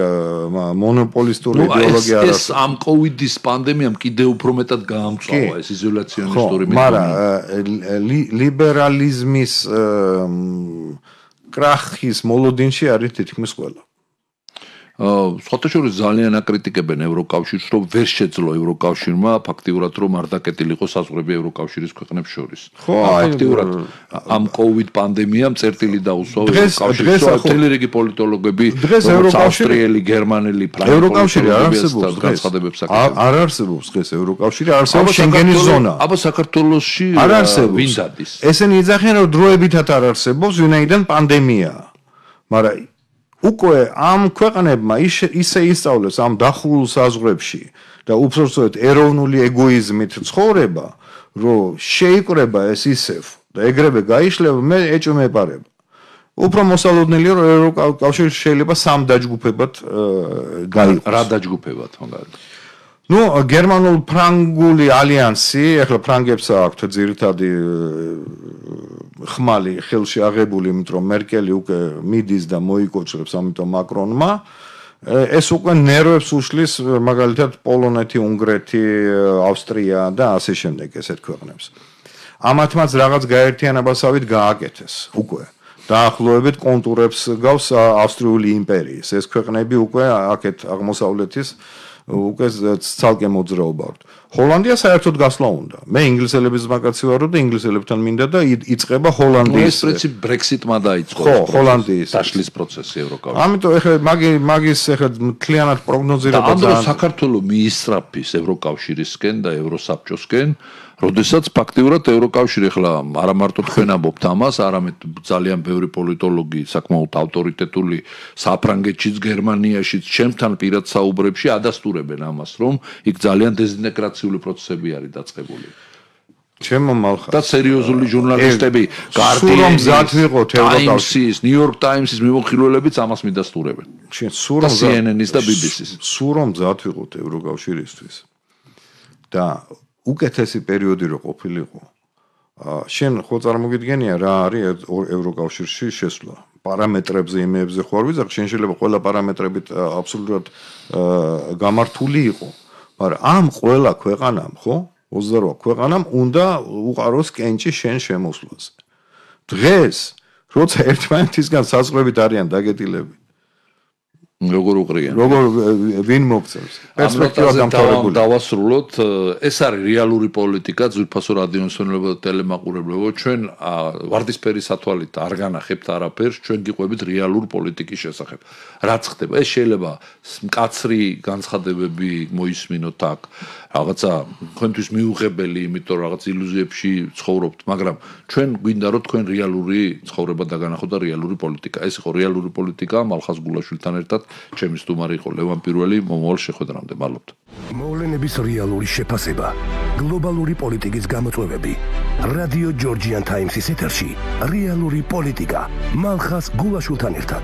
მონოპოლისტური იდეოლოგია არ არის. ეს ამ კოვიდის პანდემიამ კიდევ უფრო მეტად გაამწვავა ეს იზოლაციონისტური მეთოდი. მაგრამ ლიბერალიზმის კრახის მოლოდინში არის თითქმის ყველა. სხვათაშორის ძალიან აკრიტიკებენ ევროკავშირს, რომ ვერ შეძლო ევროკავშირმა ფაქტიურად რომ არ დაკეტილიყო საზღვრები ევროკავშირის ქვეყნებს შორის. ფაქტიურად ამ კოვიდ პანდემიამ წერტილი დაუსვა ევროკავშირს, მთელი რიგი პოლიტოლოგები, როგორც ავსტრიელი, გერმანელი, ფრანგული ევროკავშირი არ არსებობს განცხადებებს აკეთებენ. არ არსებობს დღეს ევროკავშირი, არსებობს შენგენის ზონა. აბა საქართველოში ვინ დადის? ესენი იძახიან რომ დროებითად არ არსებობს, ვინაიდან პანდემიაა. მაგრამ უკვე ამ ქვეყნებმა ისე ისწავლეს ამ დახურულ საზღვრებში და უბრალოდ ეროვნული ეგოიზმით ცხოვრება, რომ შეიკრება ეს ისევ და ეგრევე გაიშლება, მე ეჭვმეპარება. უფრო მოსალოდნელია რომ ევროკავშირი შეიძლება სამ დაჯგუფებად გაიყოს. რა დაჯგუფებად მაგალითად? ნუ გერმანულ-ფრანგული ალიანსი, ახლა ფრანგებს აქვთ ძირითადი ხმალი ხელში აღებული, იმიტომ რომ მერკელი უკვე მიდის და მოიკოჭრებს, ამიტომ მაკრონმა ეს უკვე ნერვებს უშლის მაგალითად პოლონეთი, უნგრეთი, ავსტრია და ასე შემდეგ ესეთ ქვეყნებს. ამათმაც რაღაც გაერთიანებასავით გააკეთეს უკვე. დაახლოებით კონტურებს გავს ავსტრიული იმპერიის. ეს ქვეყნები უკვე აქეთ აღმოსავლეთის უკვე ცალკე მოძრაობა აქვს. ჰოლანდია საერთოდ გასვლა უნდა. მე ინგლისელების მაგაცი ვარო და ინგლისელებთან მინდა და იწყება ჰოლანდიის. ეს პრინციპ ბრექსიტმა დაიწყო. ხო, ჰოლანდიის დაშლის პროცესი ევროკავშირში. ამიტომ ეხლა მაგი მაგის ეხლა მთლიანად პროგნოზირება და ამ დროს საქართველოს მიისწრაფის ევროკავშირისკენ და ევროსაბჭოსკენ, როდესაც ფაქტიურად ევროკავშირი ახლა არა მარტო თქვენ ამბობთ ამას, არამედ ძალიან ბევრი პოლიტოლოგი, საკმაოდ ავტორიტეტული საფრანგეთშიც, გერმანიაშიც, ჩემთან პირად საუბრებში ადასტურებენ ამას, რომ იქ ძალიან დეзинტეგრაციული პროცესები არის დაწყებული. ჩემო მალხა და სერიოზული ჟურნალისტები, Guardian-ის, Times-ის, New York Times-ის მიმოხილველებიც ამას მიდასტურებენ. შენ სულ რომ C N N-ის და B B C-ის. სულ რომ მზად ვიყოთ ევროკავშირისთვის. და უკეთესი პერიოდი რო ყოფილიყო. შენ ხო წარმოგიდგენია რა არის ევროკავშირში შესვლა? პარამეტრებზე, იმებზე ხო არ ვიზარ, შენ შეიძლება ყველა პარამეტრებით აბსოლუტურად გამართული იყო. მაგრამ ამ ყველა ქვეყანამ, ხო? ოცდარვა ქვეყანამ უნდა უყაროს კენჭი შენ შემოსვლაზე. დღეს, როცა ერთმანეთისგან საზღვრებით არიან დაგეტილები, როგორ უყრიან? როგორ ვინ მოგწევს? პერსპექტივა დამთავრებული. დავასრულოთ, ეს არის რეალური პოლიტიკა, ძვირფასო რადიომსმენელებო და ტელემაყურებლებო, ჩვენ ვარდისფერი სათვალით არ განახებთ არაფერს, ჩვენ გიყვებით რეალურ პოლიტიკის შესახებ. რაც ხდება, ეს შეიძლება მკაცრი განცხადებები მოისმინოთ აქ, რაღაცა თქვენთვის მიუღებელი, იმიტომ რომ რაღაც ილუზიებში ცხოვრობთ, მაგრამ ჩვენ გვინდა რომ თქვენ რეალური ცხოვრება დაგანახოთ და რეალური პოლიტიკა. ეს იყო რეალური პოლიტიკა მალხაზ გულაშვილთან ერთად. ჩემი სტუმარი იყო ლევან პირველი, მომავალ შეხვედრამდე მალობთ. მოვლენების რეალური შეფასება, გლობალური პოლიტიკის გამოწვევები. რადიო ჯორჯიან ტაიმსის ეთერში რეალური პოლიტიკა მალხაზ გულაშვილთან ერთად.